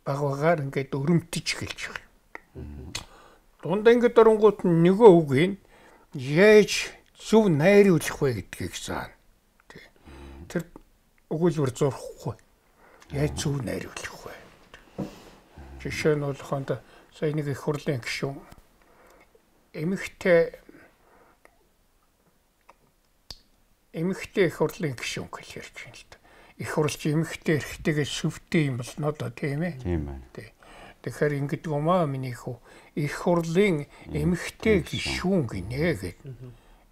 багаар ингээд өрөмтөж эхэлж байгаа. Дундаа ингээд оронгууд нөгөө үгийг яаж зөв найруулах вэ гэдгийг заана. Тэр өгүүлбэр зурхгүй. Яаж зөв найруулах вэ? Жишээ нь болохонд сая нэг их хурлын гишүүн эмэгтэй их хурлын гишүүн гэж ярьж байна л да. Их хурлч эмэгтэй эрэгтэйгээ сүвтэй юм болно доо тийм ээ. Тийм байна. Тэгэхээр ингэдэг юм аа миний хүү их хурлын эмэгтэй гишүүн гинэ гэдэг.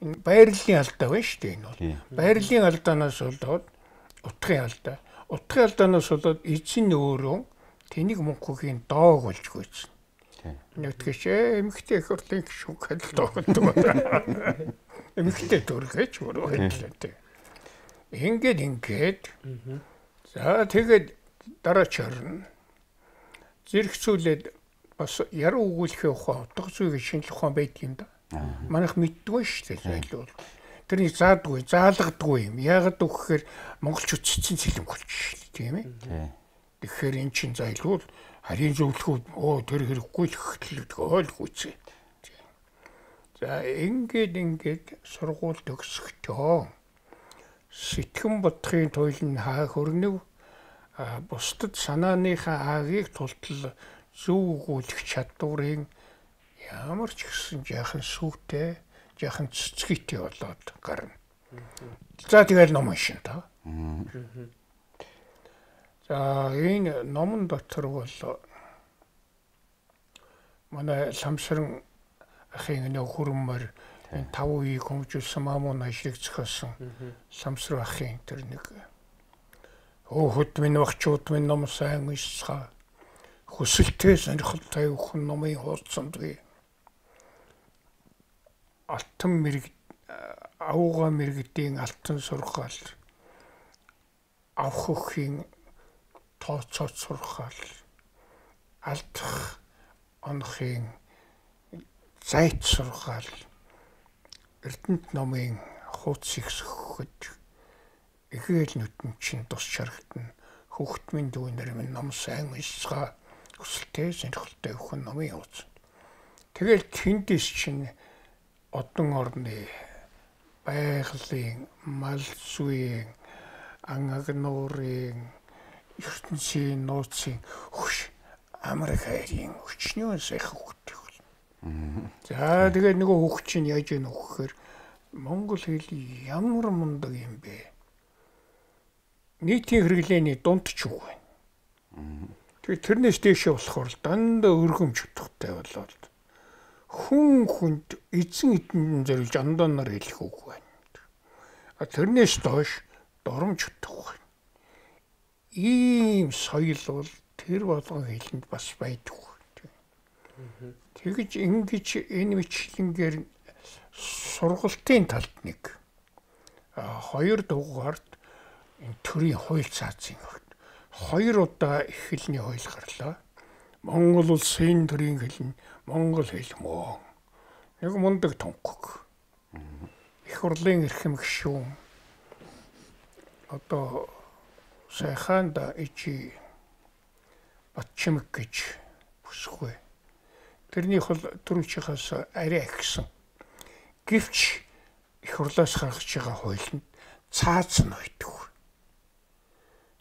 Энэ байрлалын алдаа байна шүү дээ энэ бол. Байрлалын алдаанаас болоод утгын алдаа. Утгын алдаанаас болоод эзэн өөрөө тэнийг мөнхөгийн доог болж гүйсэн. Нэгтгэж эмэгтэй их хурлын гишүүн гэдэг доогддог байна. Эмэгтэй дүргэж өөрөө хэллээ. Ингээд за тэгээд дараачаар зэрэгцүүлээд бас яруу өгүүлэхээ ухаан утга зүйг шинжлэх ухаан байдаг юм да. Манайх мэддгүй шүү дээ зайлуул. Тэрний заадгүй, заалгадгүй юм. Яагаад гэвэл монголчууд цэцэн цэлэнг болчих тийм ээ. Тэгэхээр эн чин зайлуул харийн зөвлөхүүд тэр хэрэггүй л хөтлөд ойлгохгүй. За ингээд сургууль төгсөхдөө сэтгэн бодохын туйлын хаа хөрнөв бусдад санааныхаа аагийг тултал зөв өгүүлэх чадварыг ямар ч гэсэн жаахан сүвтэй, жаахан цэцгийтэй болоод гарна. За тэгэл ном уншин та. За энэ номон дотор бол манай Ламсран ахын нөө хөрмөр энэ 5 үеийг хөгжүүлсэн маамун ажлыг зохиосон Ламсран ахын тэр нэг хөт минь багчууд минь ном сайн уншицгаа хүсэлтэй сонирхолтой өхөн номын хуудсанд бий. Алтан мэрэг ауга мэрэгдийн алтан сургаал авах хөхийн тооцоо сургаал алдах онохын зайт сургаал Эрдэнэт номын хуудсыг сөхөж ихээл нүтэн чин тус шаргатна хүүхдмийн дүүнэр минь ном сайн уншицгаа хүсэлтэй сонирхолтой өхөн номын хуудс. Тэгэл тэндээс чинь одон орны байгалийн мал зүйн ан агнуурын ертөнцийн нууцын хөш Америк хайрын өчнөө сайхан хөгтөг. За тэгээд нөгөө хөгч чинь яаж ийн өгөхээр монгол хэл ямар мундаг юм бэ? Нийтийн хэрэглээний дунд ч үг байна. Тэгээд тэрнээс дээшээ болохоор дандаа өргөмж утгатай болоод хүнд эзэн эдэн зориулж андуунаар хэлэх үг байна. Тэрнээс доош доромж утга байна. Ийм соёл бол тэр болгон хэлэнд бас байдаг. Тэгж ингэж энэ мэтлэнгээр сургалтын талд нэг 2 дугаард энэ төрийн хууль цаазын хөлт 2 удаа эхлэлний хууль гарлаа. Монгол улсын төрийн хэл нь монгол хэл мөн. Нэг мундаг тунхаг. Их хурлын эрхэм гишүүн одоо сайхан да ичи Батчимэг гэж бүсгүй. Тэрнийх бол түрүүчийнхээс арай ихсэн. Гэвч их хурлаас гаргаж байгаа хуулинд цааз нь байдаг.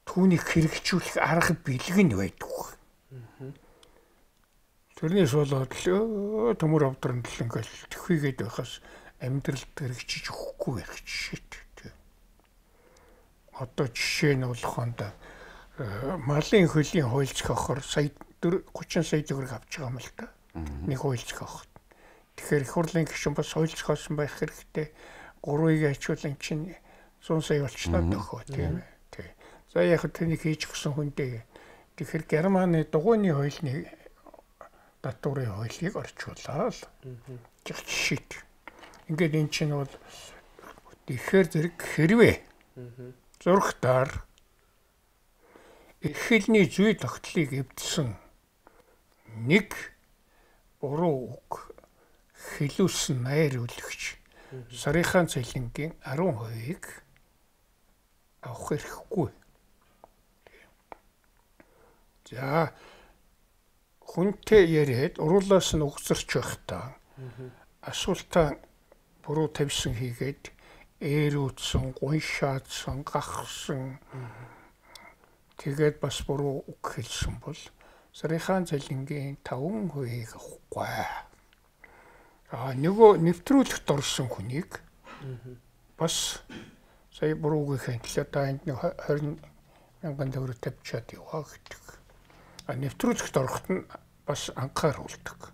Түүнийг хэрэгжүүлэх арга бэлэг нь байдаг. Тэрнээс болоод төмөр авдрын ингээл төхвигээд байхаас амьдралд хэрэгжиж өгөхгүй байх жишээт. Одоо жишээ нь болохонд малын хөлийн хууль зохиохоор сая 30 сая төгрөг авч байгаа юм л та. Нэг хууль зохиоход. Тэгэхээр их хурлын гишүүн бас хууль зохиосон байх хэрэгтэй. 3-ыг ачуулан чинь 100 сая болчихлоо нөхөө тийм ээ. Тий. За яг тэнийг хийж гсэн хүндээ. Тэгэхээр Германы дугуйны хуулийг татварын хуулийг орчуулаад жишээ. Ингээд эн чинь бол тэгэхээр зэрэг хэрвээ зургатаар эхлэлний зүй тогтлыг эвдсэн нэг буруу үг хэлүүлсэн найруулагч сарынхаа цалингийн 10%-ийг авах хэрэггүй. За хүнтэй яриад уруулаас нь угсарч байхдаа асуултаа буруу тавьсан хийгээд ээрүүдсэн, гуншаадсан, гахсан тэгээд бас буруу үг хэлсэн бол сарынхаа цалингийн 5%-ийг авахгүй. Нөгөө нэвтрүүлэгт орсон хүнийг бас сая буруу үг хэлээ та энд 20 мянган төгрөг тавьчаад яваа гэдэг. Нэвтрүүлэгт ороход нь бас анхааруулдаг.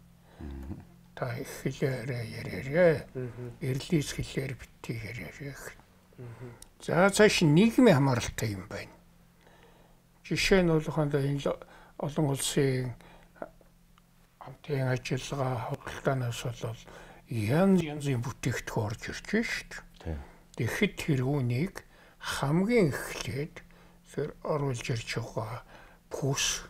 Та их хэлээрээ яриараа. Эрлийс хэлээр битгий яриараа. За цааш нийгмийн хамааралтай юм байна. Жишээ нь болохонд энэ олон улсын хамтын ажиллагаа худалдаанаас бол янзын бүтээгдэхүүн орж ирж байна шүү дээ. Тэгэхэд тэр үнийг хамгийн эхлээд тэр оруулж ирж байгаа пүүс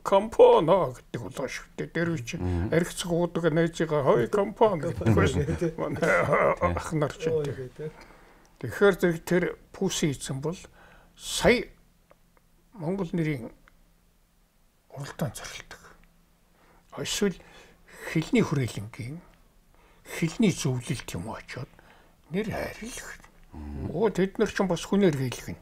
компоно гэдэг болоо шүү дээ. Тэр үчи архицг уудаг найзыгаа хой компоно гэдэг ах нар ч гэдэг. Тэгэхээр тэр пүүсийн эзэн бол сая Монгол нэрийн уралдаан зорилдог. Эсвэл хэлний хүрээлэнгийн хэлний зөвлөлт юм очоод нэр хайрлах. Тэд нар ч бас хүнээр хийлгэн.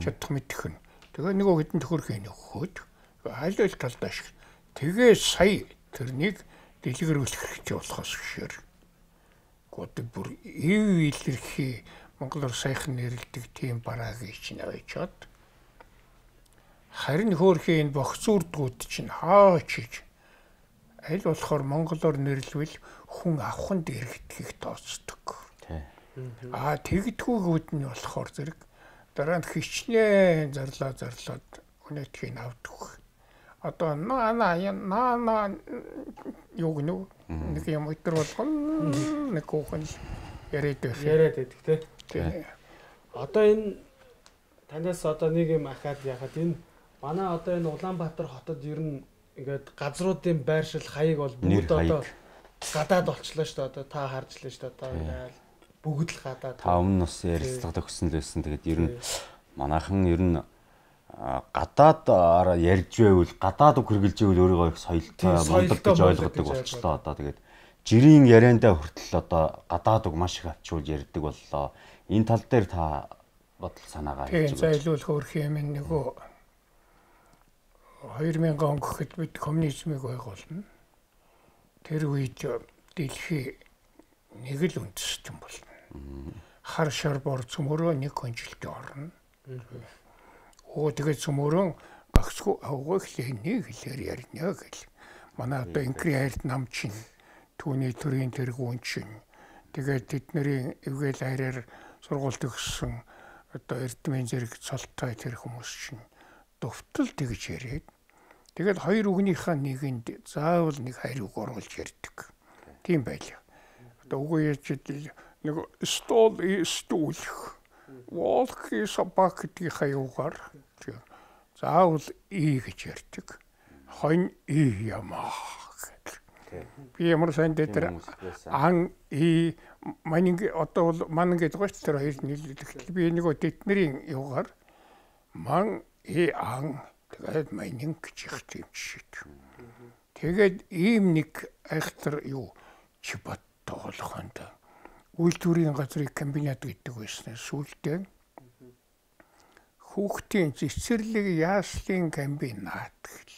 Чадах мэдэх нь. Тэгээ нөгөө хэдэн төгрөгийг өгөхөд аль аль талдаа шиг. Тэгээ сая тэрнийг дэлгэрүүлэх хэрэгтэй болохоос бишээр. Гот бүр илэрхий монголоор сайхан нэрлдэг тийм бараагийн чинь авчаад харин хөөрхийн энэ бохцуурдгууд чинь хаачиж аль болохоор монголоор нэрлвэл хүн авахын дэрэгдэхийг тооцдог. Тэгдгүүгүүд нь болохоор зэрэг дараа нь хичнээн зарлаад өнөөдгийг авдаг. Одоо наа юу гэнэ нэг юм өтер болгоно нэг хүүхэн яриад байдаг тий. Одоо энэ танаас одоо нэг юм ахаад яхад энэ манай одоо энэ Улаанбаатар хотод ер нь ингээд газруудын байршил хаяг бол бүгд одоо гадаад болчлоо шүү дээ. Одоо та харж лээ шүү дээ. Одоо ингээд бүгд л гадаад. Та өмнө бас ярилцлага төгссөн л байсан. Тэгээд ер нь манайхан ер нь гадаад ярьж байвал гадаад үг хэрглэж байвал өөрийгөө их соёлтой мундаг гэж ойлгодог болчлоо. Одоо тэгээд жирийн яриандаа хүртэл одоо гадаад үг маш их авчуулж ярьдаг боллоо. Энэ тал дээр та бодол санаагаа хийж байгаа. Зайлуулах өөрх юм нөгөө 2000 он гэхэд бид коммунизмыг байгуулна. Тэр үед дэлхий нэг л үндэстэн болно. Хар шар бор цөмөрөө нэг конжилт орно. Тэгээд цөмөрөө багцгүй авах хэлний хэлээр ярина гэл. Манай одоо инкри хайрт нам чинь түүний төрийн тэргүүн чинь тэгээд тэдний эвгээл хайраар сургуульд өгсөн одоо эрдмийн зэрэг цолтой тэр хүмүүс чинь довтол тэгж яриад Тэгээд хоёр үгнийхээ нэгэнд заавал нэг хариуг оруулж ярьдаг. Тийм байлаа. Одоо үгүй яаж нэг стол стүүлх. Walk собак гэдгийг хаяугаар заавал гэж ярьдаг. Хонь ямаа. Би ямар сайн дээр ан манинг одоо ман гэдэг гоч тэр хоёр нийлүүлэх. Би нөгөө тэднэрийн юугаар ман ан тэгээд манинг гэж юм шиг. Тэгээд ийм нэг айхтар юу чипат тоглохонд үйлдвэрийн газрыг комбинат гэдэг байсан. Сүүлдээ хүүхдийн цэцэрлэг яаслын комбинат гэл.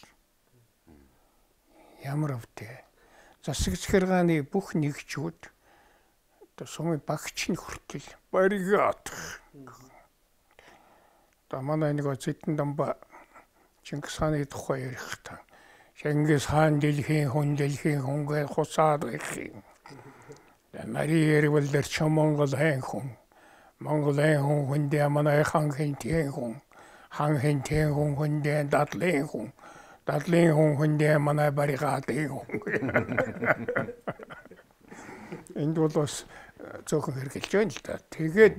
Ямар өвтэй. Засаг захиргааны бүх нэгжүүд одоо сумын багч нь хүртэл баригат. Одоо манай нэг зэдэн дамба Чингис хааны тухай ярихдаа Чингис хаан дэлхийн хүн гэж хуцаад байх юм. Мария эрвэлдэр ч Монгол хүн. Монголын хүн хүндээ манай хан хинтэн хүн. Хан хинтэн хүн хүндээ дадлын хүн. Дадлын хүн хүндээ манай баригатын хүн. Энд бол бас зөөхөн хэрэгжилж байна л да. Тэгээд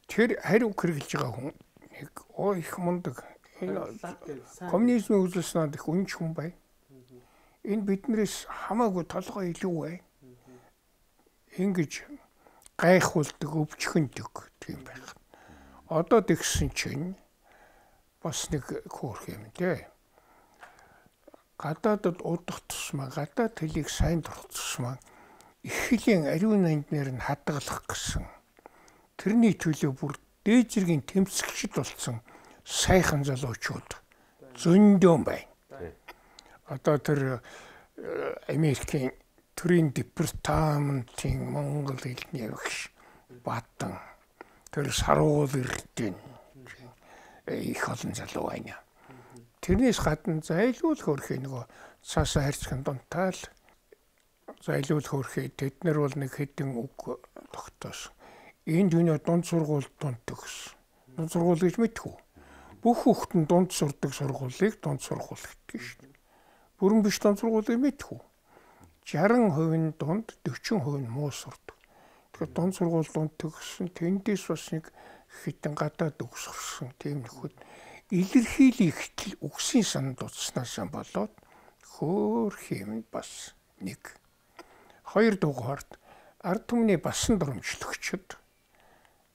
тэр хариу хэрэгжилж байгаа хүн нэг их мундаг коммунизмын үзэлснээр их үнч хүн бай. Энэ биднээс хамаагүй толгой илүү бай. Ингэж гайхуулдаг, өвчхөндөг тийм байх. Одоо тэгсэн чинь бас нэг хөөх юм дээ. Гадаадд удах тусмаа, гадаад хэлийг сайн дурах тусмаа их хэлийн ариун нанднаар нь хадгалах гэсэн. Тэрний төлөө бүр дээд зэргийн тэмцэгчд болсон сайхан залуучууд зөндөө байна. Одоо тэр Америкийн төрийн департаментын Монгол хэлний багш Баатан тэр саруул ирдэн их олон залуу байна. Тэрнээс гадна зайлуул хөрхий нөгөө цаасаа харьцхан дунтаал зайлуул хөрхий тэд нар бол нэг хэдэн үг тогтоос. Энд юуны дунд сургууль дунд төгс. Дунд сургууль гэж мэдхүү. Бүх хүүхэд нь дунд сурдаг сургуулийг дунд сургууль гэдэг шүү дээ. Бүрэн биш дунд сургуулийг мэдхүү. 60% нь дунд, 40% нь муу сурдаг. Тэгэхээр дунд сургууль дунд төгссөн тэндээс бас нэг хитэн гадаад өгсөрсөн тийм нөхөд илэрхийлэх ихтэл үгсийн санд утаснаас болоод хөөх юм бас нэг. Хоёр дугаард ард түмний басан дурамжлагчид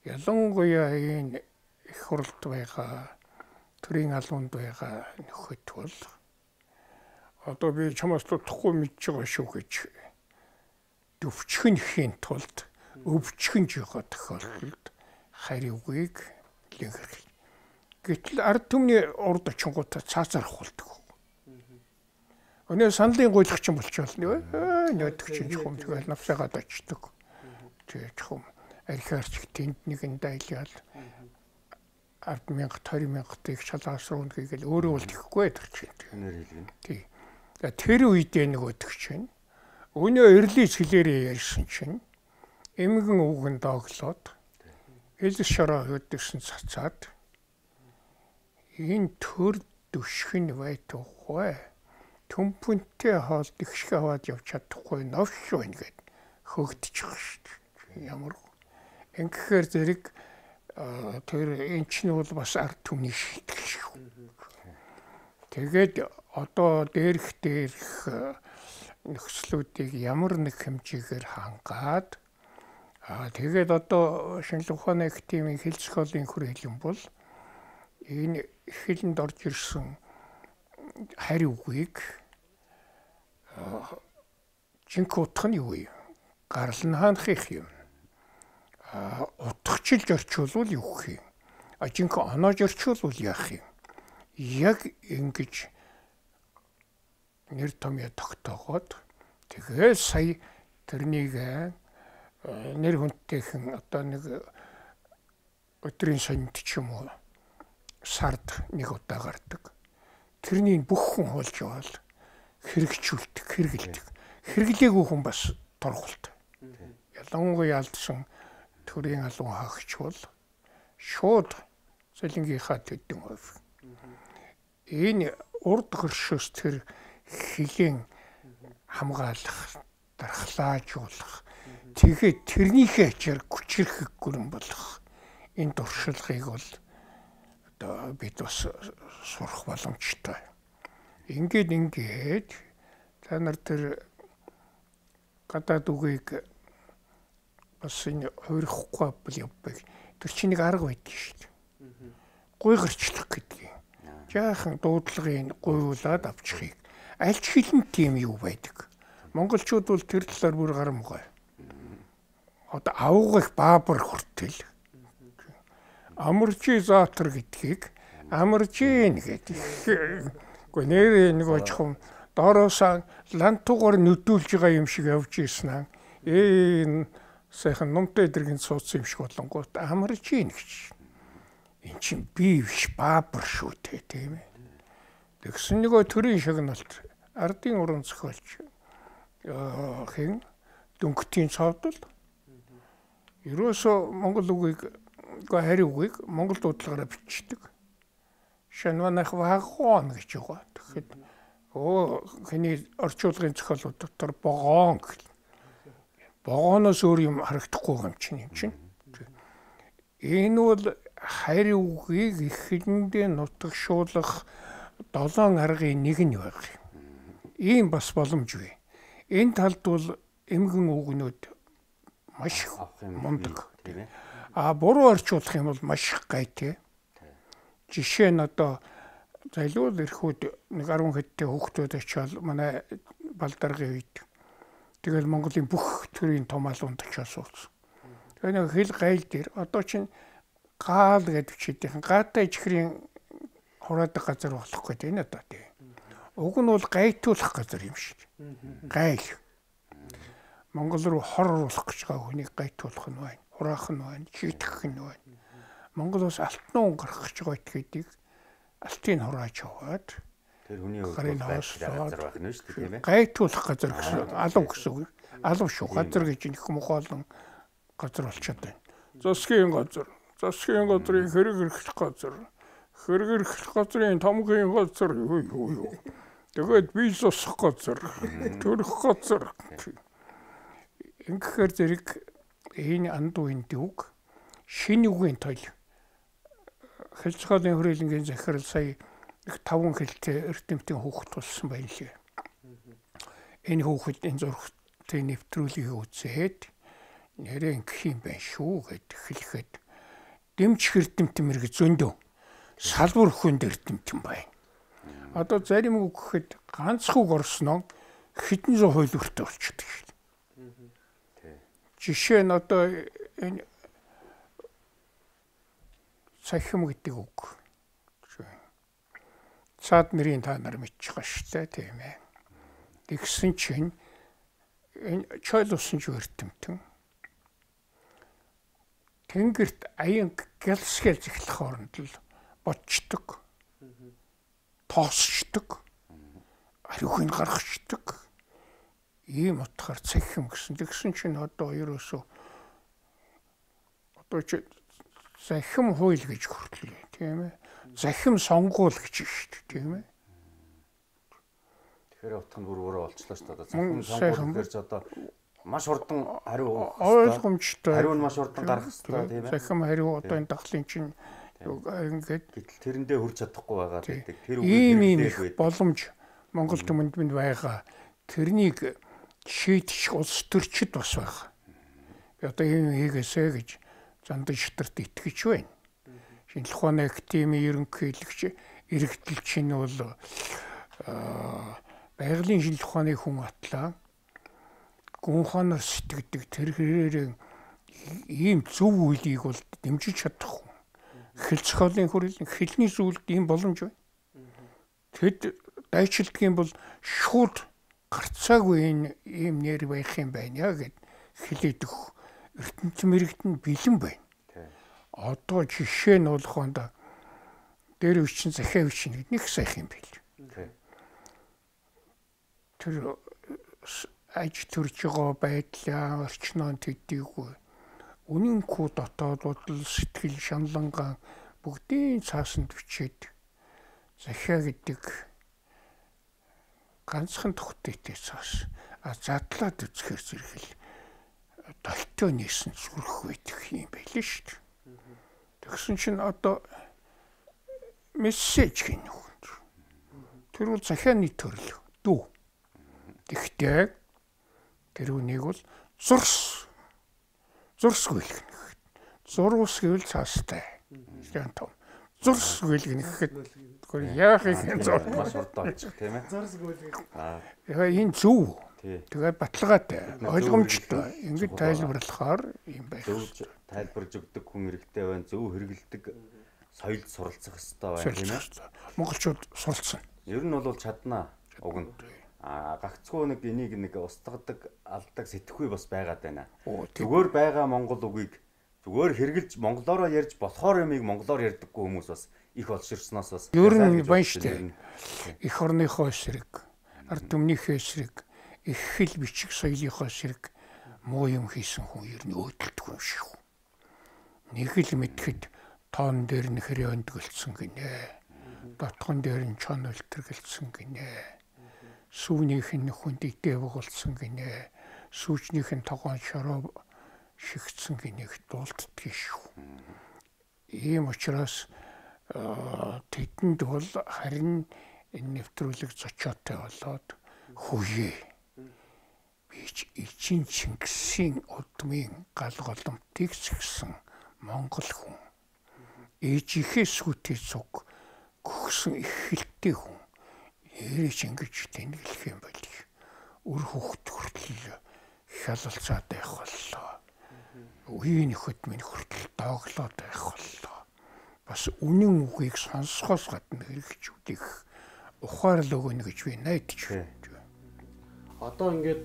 ялангуяа энэ их хурлд байгаа төрийн албанд байгаа нөхөд бол одоо би чамаас тутахгүй мэдж байгаа шүү гэж өвчхөнхийн тулд өвчхөнж байгаа тохиолдолд хариугийг илэрхийлж. Гэтэл ард түмний урд очингуудаа цаазаар хулдаг. Өнөө сандлын гуйлагч юм болчихвол нөөдөг чинь чухам тэгэл навсаагаад очдог. Тэгээ чухам архиарч тэнд нэгэн дайлал 10,000 20,000-ыг шалгаасруун хийгээл өөрөө бол тэхгүй тэр чинь. Тий. Тэр үедээ нөгөөдөг чинь өнөө эрлийц хэлээрээ ярьсан чинь эмгэн үгэн дооглоод хэл шороо хөдөлсөн цацаад энэ төр дүшгэн байтугай төмпөнтэй хоол ихшгэ аваад явж чадахгүй новш байна гэд хөөгдөж байгаа шүү дээ. Ямар ингэхээр зэрэг тэр энэ чинь бол бас ард түмний шийтгэл шүү. Тэгээд одоо дээрх нөхцлүүдийг ямар нэг хэмжээгээр хангаад тэгээд одоо шинжлэх ухааны академийн хэл зохиолын хүрээлэн бол энэ хэлэнд орж ирсэн хариугийг жинк утах нь юу юм? Гарал нь хаанхих юм? Утгачилж орчуулвал юу гэх юм? Жинк оноож орчуулвал яах юм? Яг ингэж нэр томьёо тогтоогоод тэгээд сая тэрнийг нэр хүндтэйхэн одоо нэг өдрийн сонинд ч юм уу сард нэг удаа гардаг. Тэрний бүх хүн хулж явал хэрэгжүүлдэг, хэрэгэлдэг. Хэрэглээгүй хүн бас торгуулт. Ялангуяа алдсан төрийн алуун хаагч бол шууд цалингийнхаа төдөн хувь. Энэ урд хөршөөс тэр хилийн хамгаалах, дархлаажуулах, тэгээд тэрнийхээ ачаар хүчрэх гүрэн болох энэ туршлагыг бол одоо бид бас сурах боломжтой. Ингээд та нар тэр гадаад үгийг бас энэ хуурахгүй бол явбаг. Тэр чинь нэг арга байдаг шүү дээ. Гуй гарчлах гэдгийг. Жаахан дуудлагын гуйлаад авчихыг. Аль ч хэлэн тийм юу байдаг. Монголчууд бол тэр талаар бүр гарамгай. Одоо авгах баабар хүртэл амаржи заатар гэдгийг амаржин гэдэг. Гэхдээ нэр нэг очихом доороосаа лантуугаар нүдүүлж байгаа юм шиг явж ийсэн аа. Энэ сайхан номтой дэргийн суудсан юм шиг болонгууд амаржин гэж. Эн чинь би биш баабар шүү дээ тийм ээ. Тэгсэн нөгөө төрийн шагналт ардын уран зохиолч хэн дөнгөтийн цовдол ерөөсө монгол үгийг хариу үгийг монгол дуудлагаараа бичдэг. Шанванах вагон гэж байгаа. Тэгэхэд хэний орчуулгын зохиолууд дотор богоон гэх. Богооноос өөр юм харагдахгүй юм чинь. Энэ бол хариу үгийг ихэндээ нутагшуулах 7 аргын нэг нь баг. Ийм бас боломжгүй. Энэ талд бол эмгэн үгнүүд маш мундаг. Буруу орчуулах юм бол маш гайтай. Жишээ нь одоо зайлуул эрхүүд нэг 10 хэдтэй хүүхдүүд очиод манай балдаргын үед тэгэл Монголын бүх төрлийн томаалуунд очиод суусан. Тэгээ нэг хэл гайл дээр одоо чинь гаал гэдэг чийдийн гаатай ичхрийн хураадаг газар болох гэдэг энэ одоо тийм. Уг нь бол гайтуулах газар юм шиг. Гайл. Монгол руу хор оруулах гэж байгаа хүнийг гайтуулах нь байна. Хураах нь байна, шийтгэх нь байна. Монголоос алтан гарах гэж байгаа гэдгийг алтын хурааж аваад тэр хүний газар байх нь шүү дээ тийм ээ. Гайтуулах газар гэсэн алав гэсэн үг. Алав шүү. Газар гэж нэг мохоолон газар болчиход байна. Засгийн газар, засгийн газрын хэрэг эрхлэх газар, хэрэг эрхлэх газрын тамгийн газар юу. Тэгээд бие засах газар, төрөх газар. Ингэхээр зэрэг энэ андуун дүүг шинэ үгийн тойл хэл зохиолын хүрээлэнгийн захирал сая их 5 хэлтэй эрдэмтэн хүүхэд болсон байна лээ. Энэ хүүхэд энэ зургтыг нэвтрүүлгийг үзээд нэрээ ингэх юм байна шүү гэд хэлэхэд дэмч эрдэмтэн мэрэг зөндөө салбар хүнд эрдэмтэн байна. Одоо зарим үг гэхэд ганц үг орсноо хэдэн зуун хууль өртөө болчихдог шүү дээ. Жишээ нь одоо энэ цахим гэдэг үг. Цаад нэрийн та нар мэдчих байгаа шүү дээ тийм ээ. Тэгсэн чинь энэ чойл усан жиртэмтэн тэнгэрт аян гэлсгэл зэхлэх хооронд л бодчдөг. Тоосчдөг. Ариуг нь гаргачдөг. Ийм утгаар цахим гэсэн. Тэгсэн чинь одоо ерөөсөө одоо чи захим хууль гэж хүртлээ тийм ээ. Захим сонгуул гэж шүү дээ тийм ээ. Тэгэхээр утга нь бүр өөрөө олчлоо шүү дээ. Захим сонгуул гэж одоо маш хурдан хариу ойлгомжтой. Хариу нь маш хурдан гарах хэрэгтэй тийм ээ. Захим хариу одоо энэ дахлын чинь ингээд гэтэл тэрэндээ хүрч чадахгүй байгаа гэдэг. Тэр ийм их боломж Монгол түмэнд байгаа. Тэрнийг шийдчих улс төрчид бас байгаа. Би одоо ийм хийгээсэй гэж зандан шатарт итгэж байна. Шинжлэх ухааны академийн ерөнхийлөгч иргэдэлч нь бол байгалийн шинжлэх ухааны хүн атлаа гүн ухаанаар сэтгэдэг тэр хэрээр ийм зөв үйлийг бол дэмжиж чадахгүй. Хэл зохиолын хүрээлэн хэлний зүйлд ийм боломж байна. Тэд дайчилдаг юм бол шууд гарцаагүй энэ ийм нэр байх юм байна гэд хэлээд өгөх ертөнцийн мэрэгт нь бэлэн байна. Одоо жишээ нь болохонд дээр үчин захиа үчин нэг сайхан юм байл. Тэр аж төрж байгаа байдлаа орчноо төдийгүй үнэнхүү дотоод бодол сэтгэл шаналнган бүгдийн цаасанд бичээд захиа гэдэг ганцхан тогтойтой цаас задлаад үзэхээр зэрэгэл долтоо нээсэн зүрх байдаг юм байл шүү дээ. Тэгсэн чинь одоо мессеж гэнэ үү. Тэр бол захианы төрөл дүү. Тэгтээ тэр үнийг бол зурс гүйлгэнэ. Зурус гэвэл цаастай. Яан том. Зурс гүйлгэнэ гэхэд яах юм зурс маш хурдан олчих тийм ээ. Зурс гүйлгэх. Тэгээ энэ зөв. Тэгээд баталгаатай, ойлгомжтой. Ингэж тайлбарлахаар юм байх. Зөв тайлбарж өгдөг хүн хэрэгтэй байна. Зөв хэрэгэлдэг соёлд суралцах хэрэгтэй байна тийм ээ. Монголчууд суралцсан. Ер нь бол чаднаа уг нь. Гагцгүй нэг энийг нэг устгадаг, алдаг сэтгэхүй бас байгаад байна. Зүгээр байгаа монгол үгийг зүгээр хэрглэж монголоор ярьж болохоор юмыг монголоор ярьдаггүй хүмүүс бас их олширсноос бас ер нь байна шүү дээ. Эх орныхоо эсрэг, ард түмнийхээ эсрэг, их хэл бичиг соёлынхоо эсрэг муу юм хийсэн хүн ер нь өөдөлдөг юм шиг. Нэг л мэдхэд тоон дээр нь хэрэг өндгөлцсөн гинэ. Дотгон дээр нь чон өлтөргөлцсөн гинэ. Сүүнийх нь хүнд идэ бугалсан гинэ. Сүүчнийх нь тогоон шороо шигцсэн гинэг дуулддаг шүү. Ийм учраас тэдэнд бол харин энэ нэвтрүүлэг зочоотой болоод хүүе. Бич Эчин Чингисийн удмын гал голомтыг згсэн монгол хүн. Ээжийнхээ сүтээ цуг гөхсөн их хилтэй хүн. Яриж ингэж тэнглэх юм байл. Үр хөвгт хүртэл хялалцаад байх боллоо. Үеийн нөхөд минь хүртэл дооглоод байх боллоо. Бас үнэн үгийг сонсохоос гадна хэрэгжүүлэх ухаарлаг өгнө гэж би найдаж байна. Одоо ингээд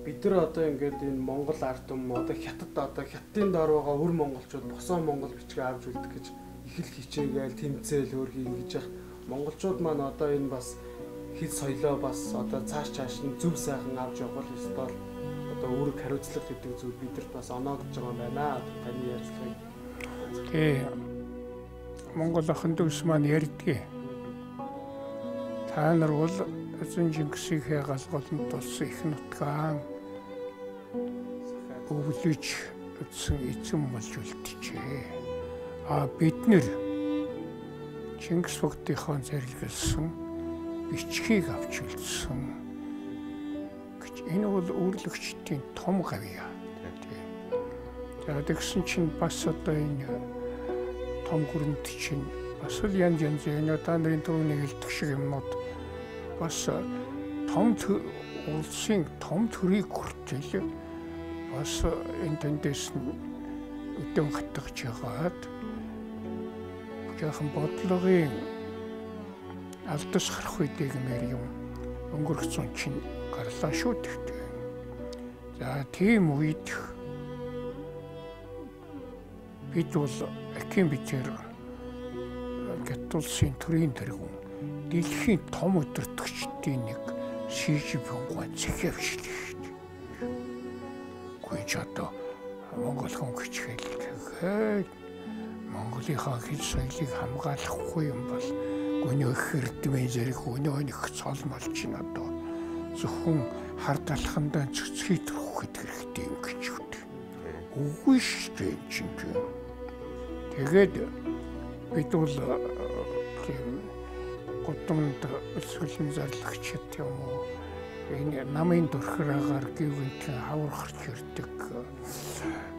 бид нар одоо ингээд энэ Монгол ард түмэн одоо хятад одоо хятадын доор байгаа өр монголчууд босоо монгол бичгээ авч үлдэх гэж их л хичээгээл тэмцээл хөрхий ингэж явах монголчууд маань одоо энэ бас хэл соёлоо бас одоо цааш нь зөв сайхан авч явах ёстой л одоо үүрэг хариуцлага гэдэг зүйл бидэрт бас оноогдож байгаа юм байна. Таны ярьцлагыг. Тий. Монгол ахын дүүс маань ярьдгийг. Та нар бол Эзэн Чингисийнхээ галголонд болсон их нутгаан өвлөж өдсөн эзэн болж үлджээ. Бид нэр Чингис бүгдийнхөө зэрэглэсэн бичгийг авч үлдсэн гэж энэ бол үүрлэгчдийн том гавьяа. Тэгсэн чинь бас одоо энэ том хүрэмт чинь бас л янз энэ та нарын түрүүний хэлдэг шиг юмнууд бас том улсын том төрийг хүртэл бас энэ тэндээс өдөн хатгаж яагаад жоохон бодлогын алдас харах үедээ гэмээр юм өнгөрсөн чинь гарлаа шүү дээ. За тийм үед бид бол Аким бичээр Гятулсын төрийн тэргүүн дэлхийн том өдөртөгчдийн нэг шийжбэнгуй захиавчлаа шүү дээ. Гүйж одоо Монгол хүн хичээлгээд Монголынхаа хэл соёлыг хамгаалахгүй юм бол гүнөө хэрдмэн зэрэг өнөө нэг цол молж ин одоо зөвхөн хар талхандаа цэцхий төрөх хэрэгтэй юм гэж үү. Үгүй шүү дээ чинь. Тэгээд бид бол тийм гудамд өсвөлн зарлагчд юм уу энэ намын дөрхраагаар гівгэнтэн хаврахч ирдэг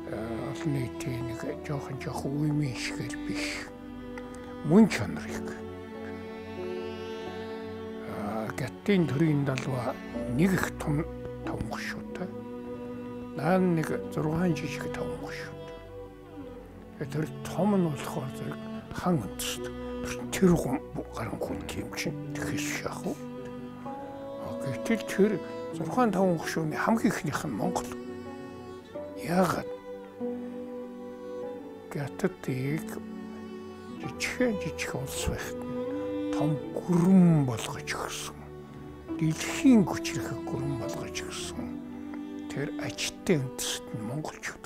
олон нийтийн нэг жоохон үеийн шигээр биш мөн чанарыг гаттын төрийн далва нэг их том тавхшуутай наа нэг 6 жижиг тавхшууд тэр том нь болохоор зэрэг хан өндөст тэр гарan хүн юм чинь тэгээс шахав. Гэтэл тэр 6-5 хушууны хамгийн ихнийх нь Монгол. Яагаад? Гятадыг жижиг улс байхад том гүрэн болгож өгсөн. Дэлхийн хүчрэх гүрэн болгож өгсөн. Тэр ажтай үндэст нь монголчууд.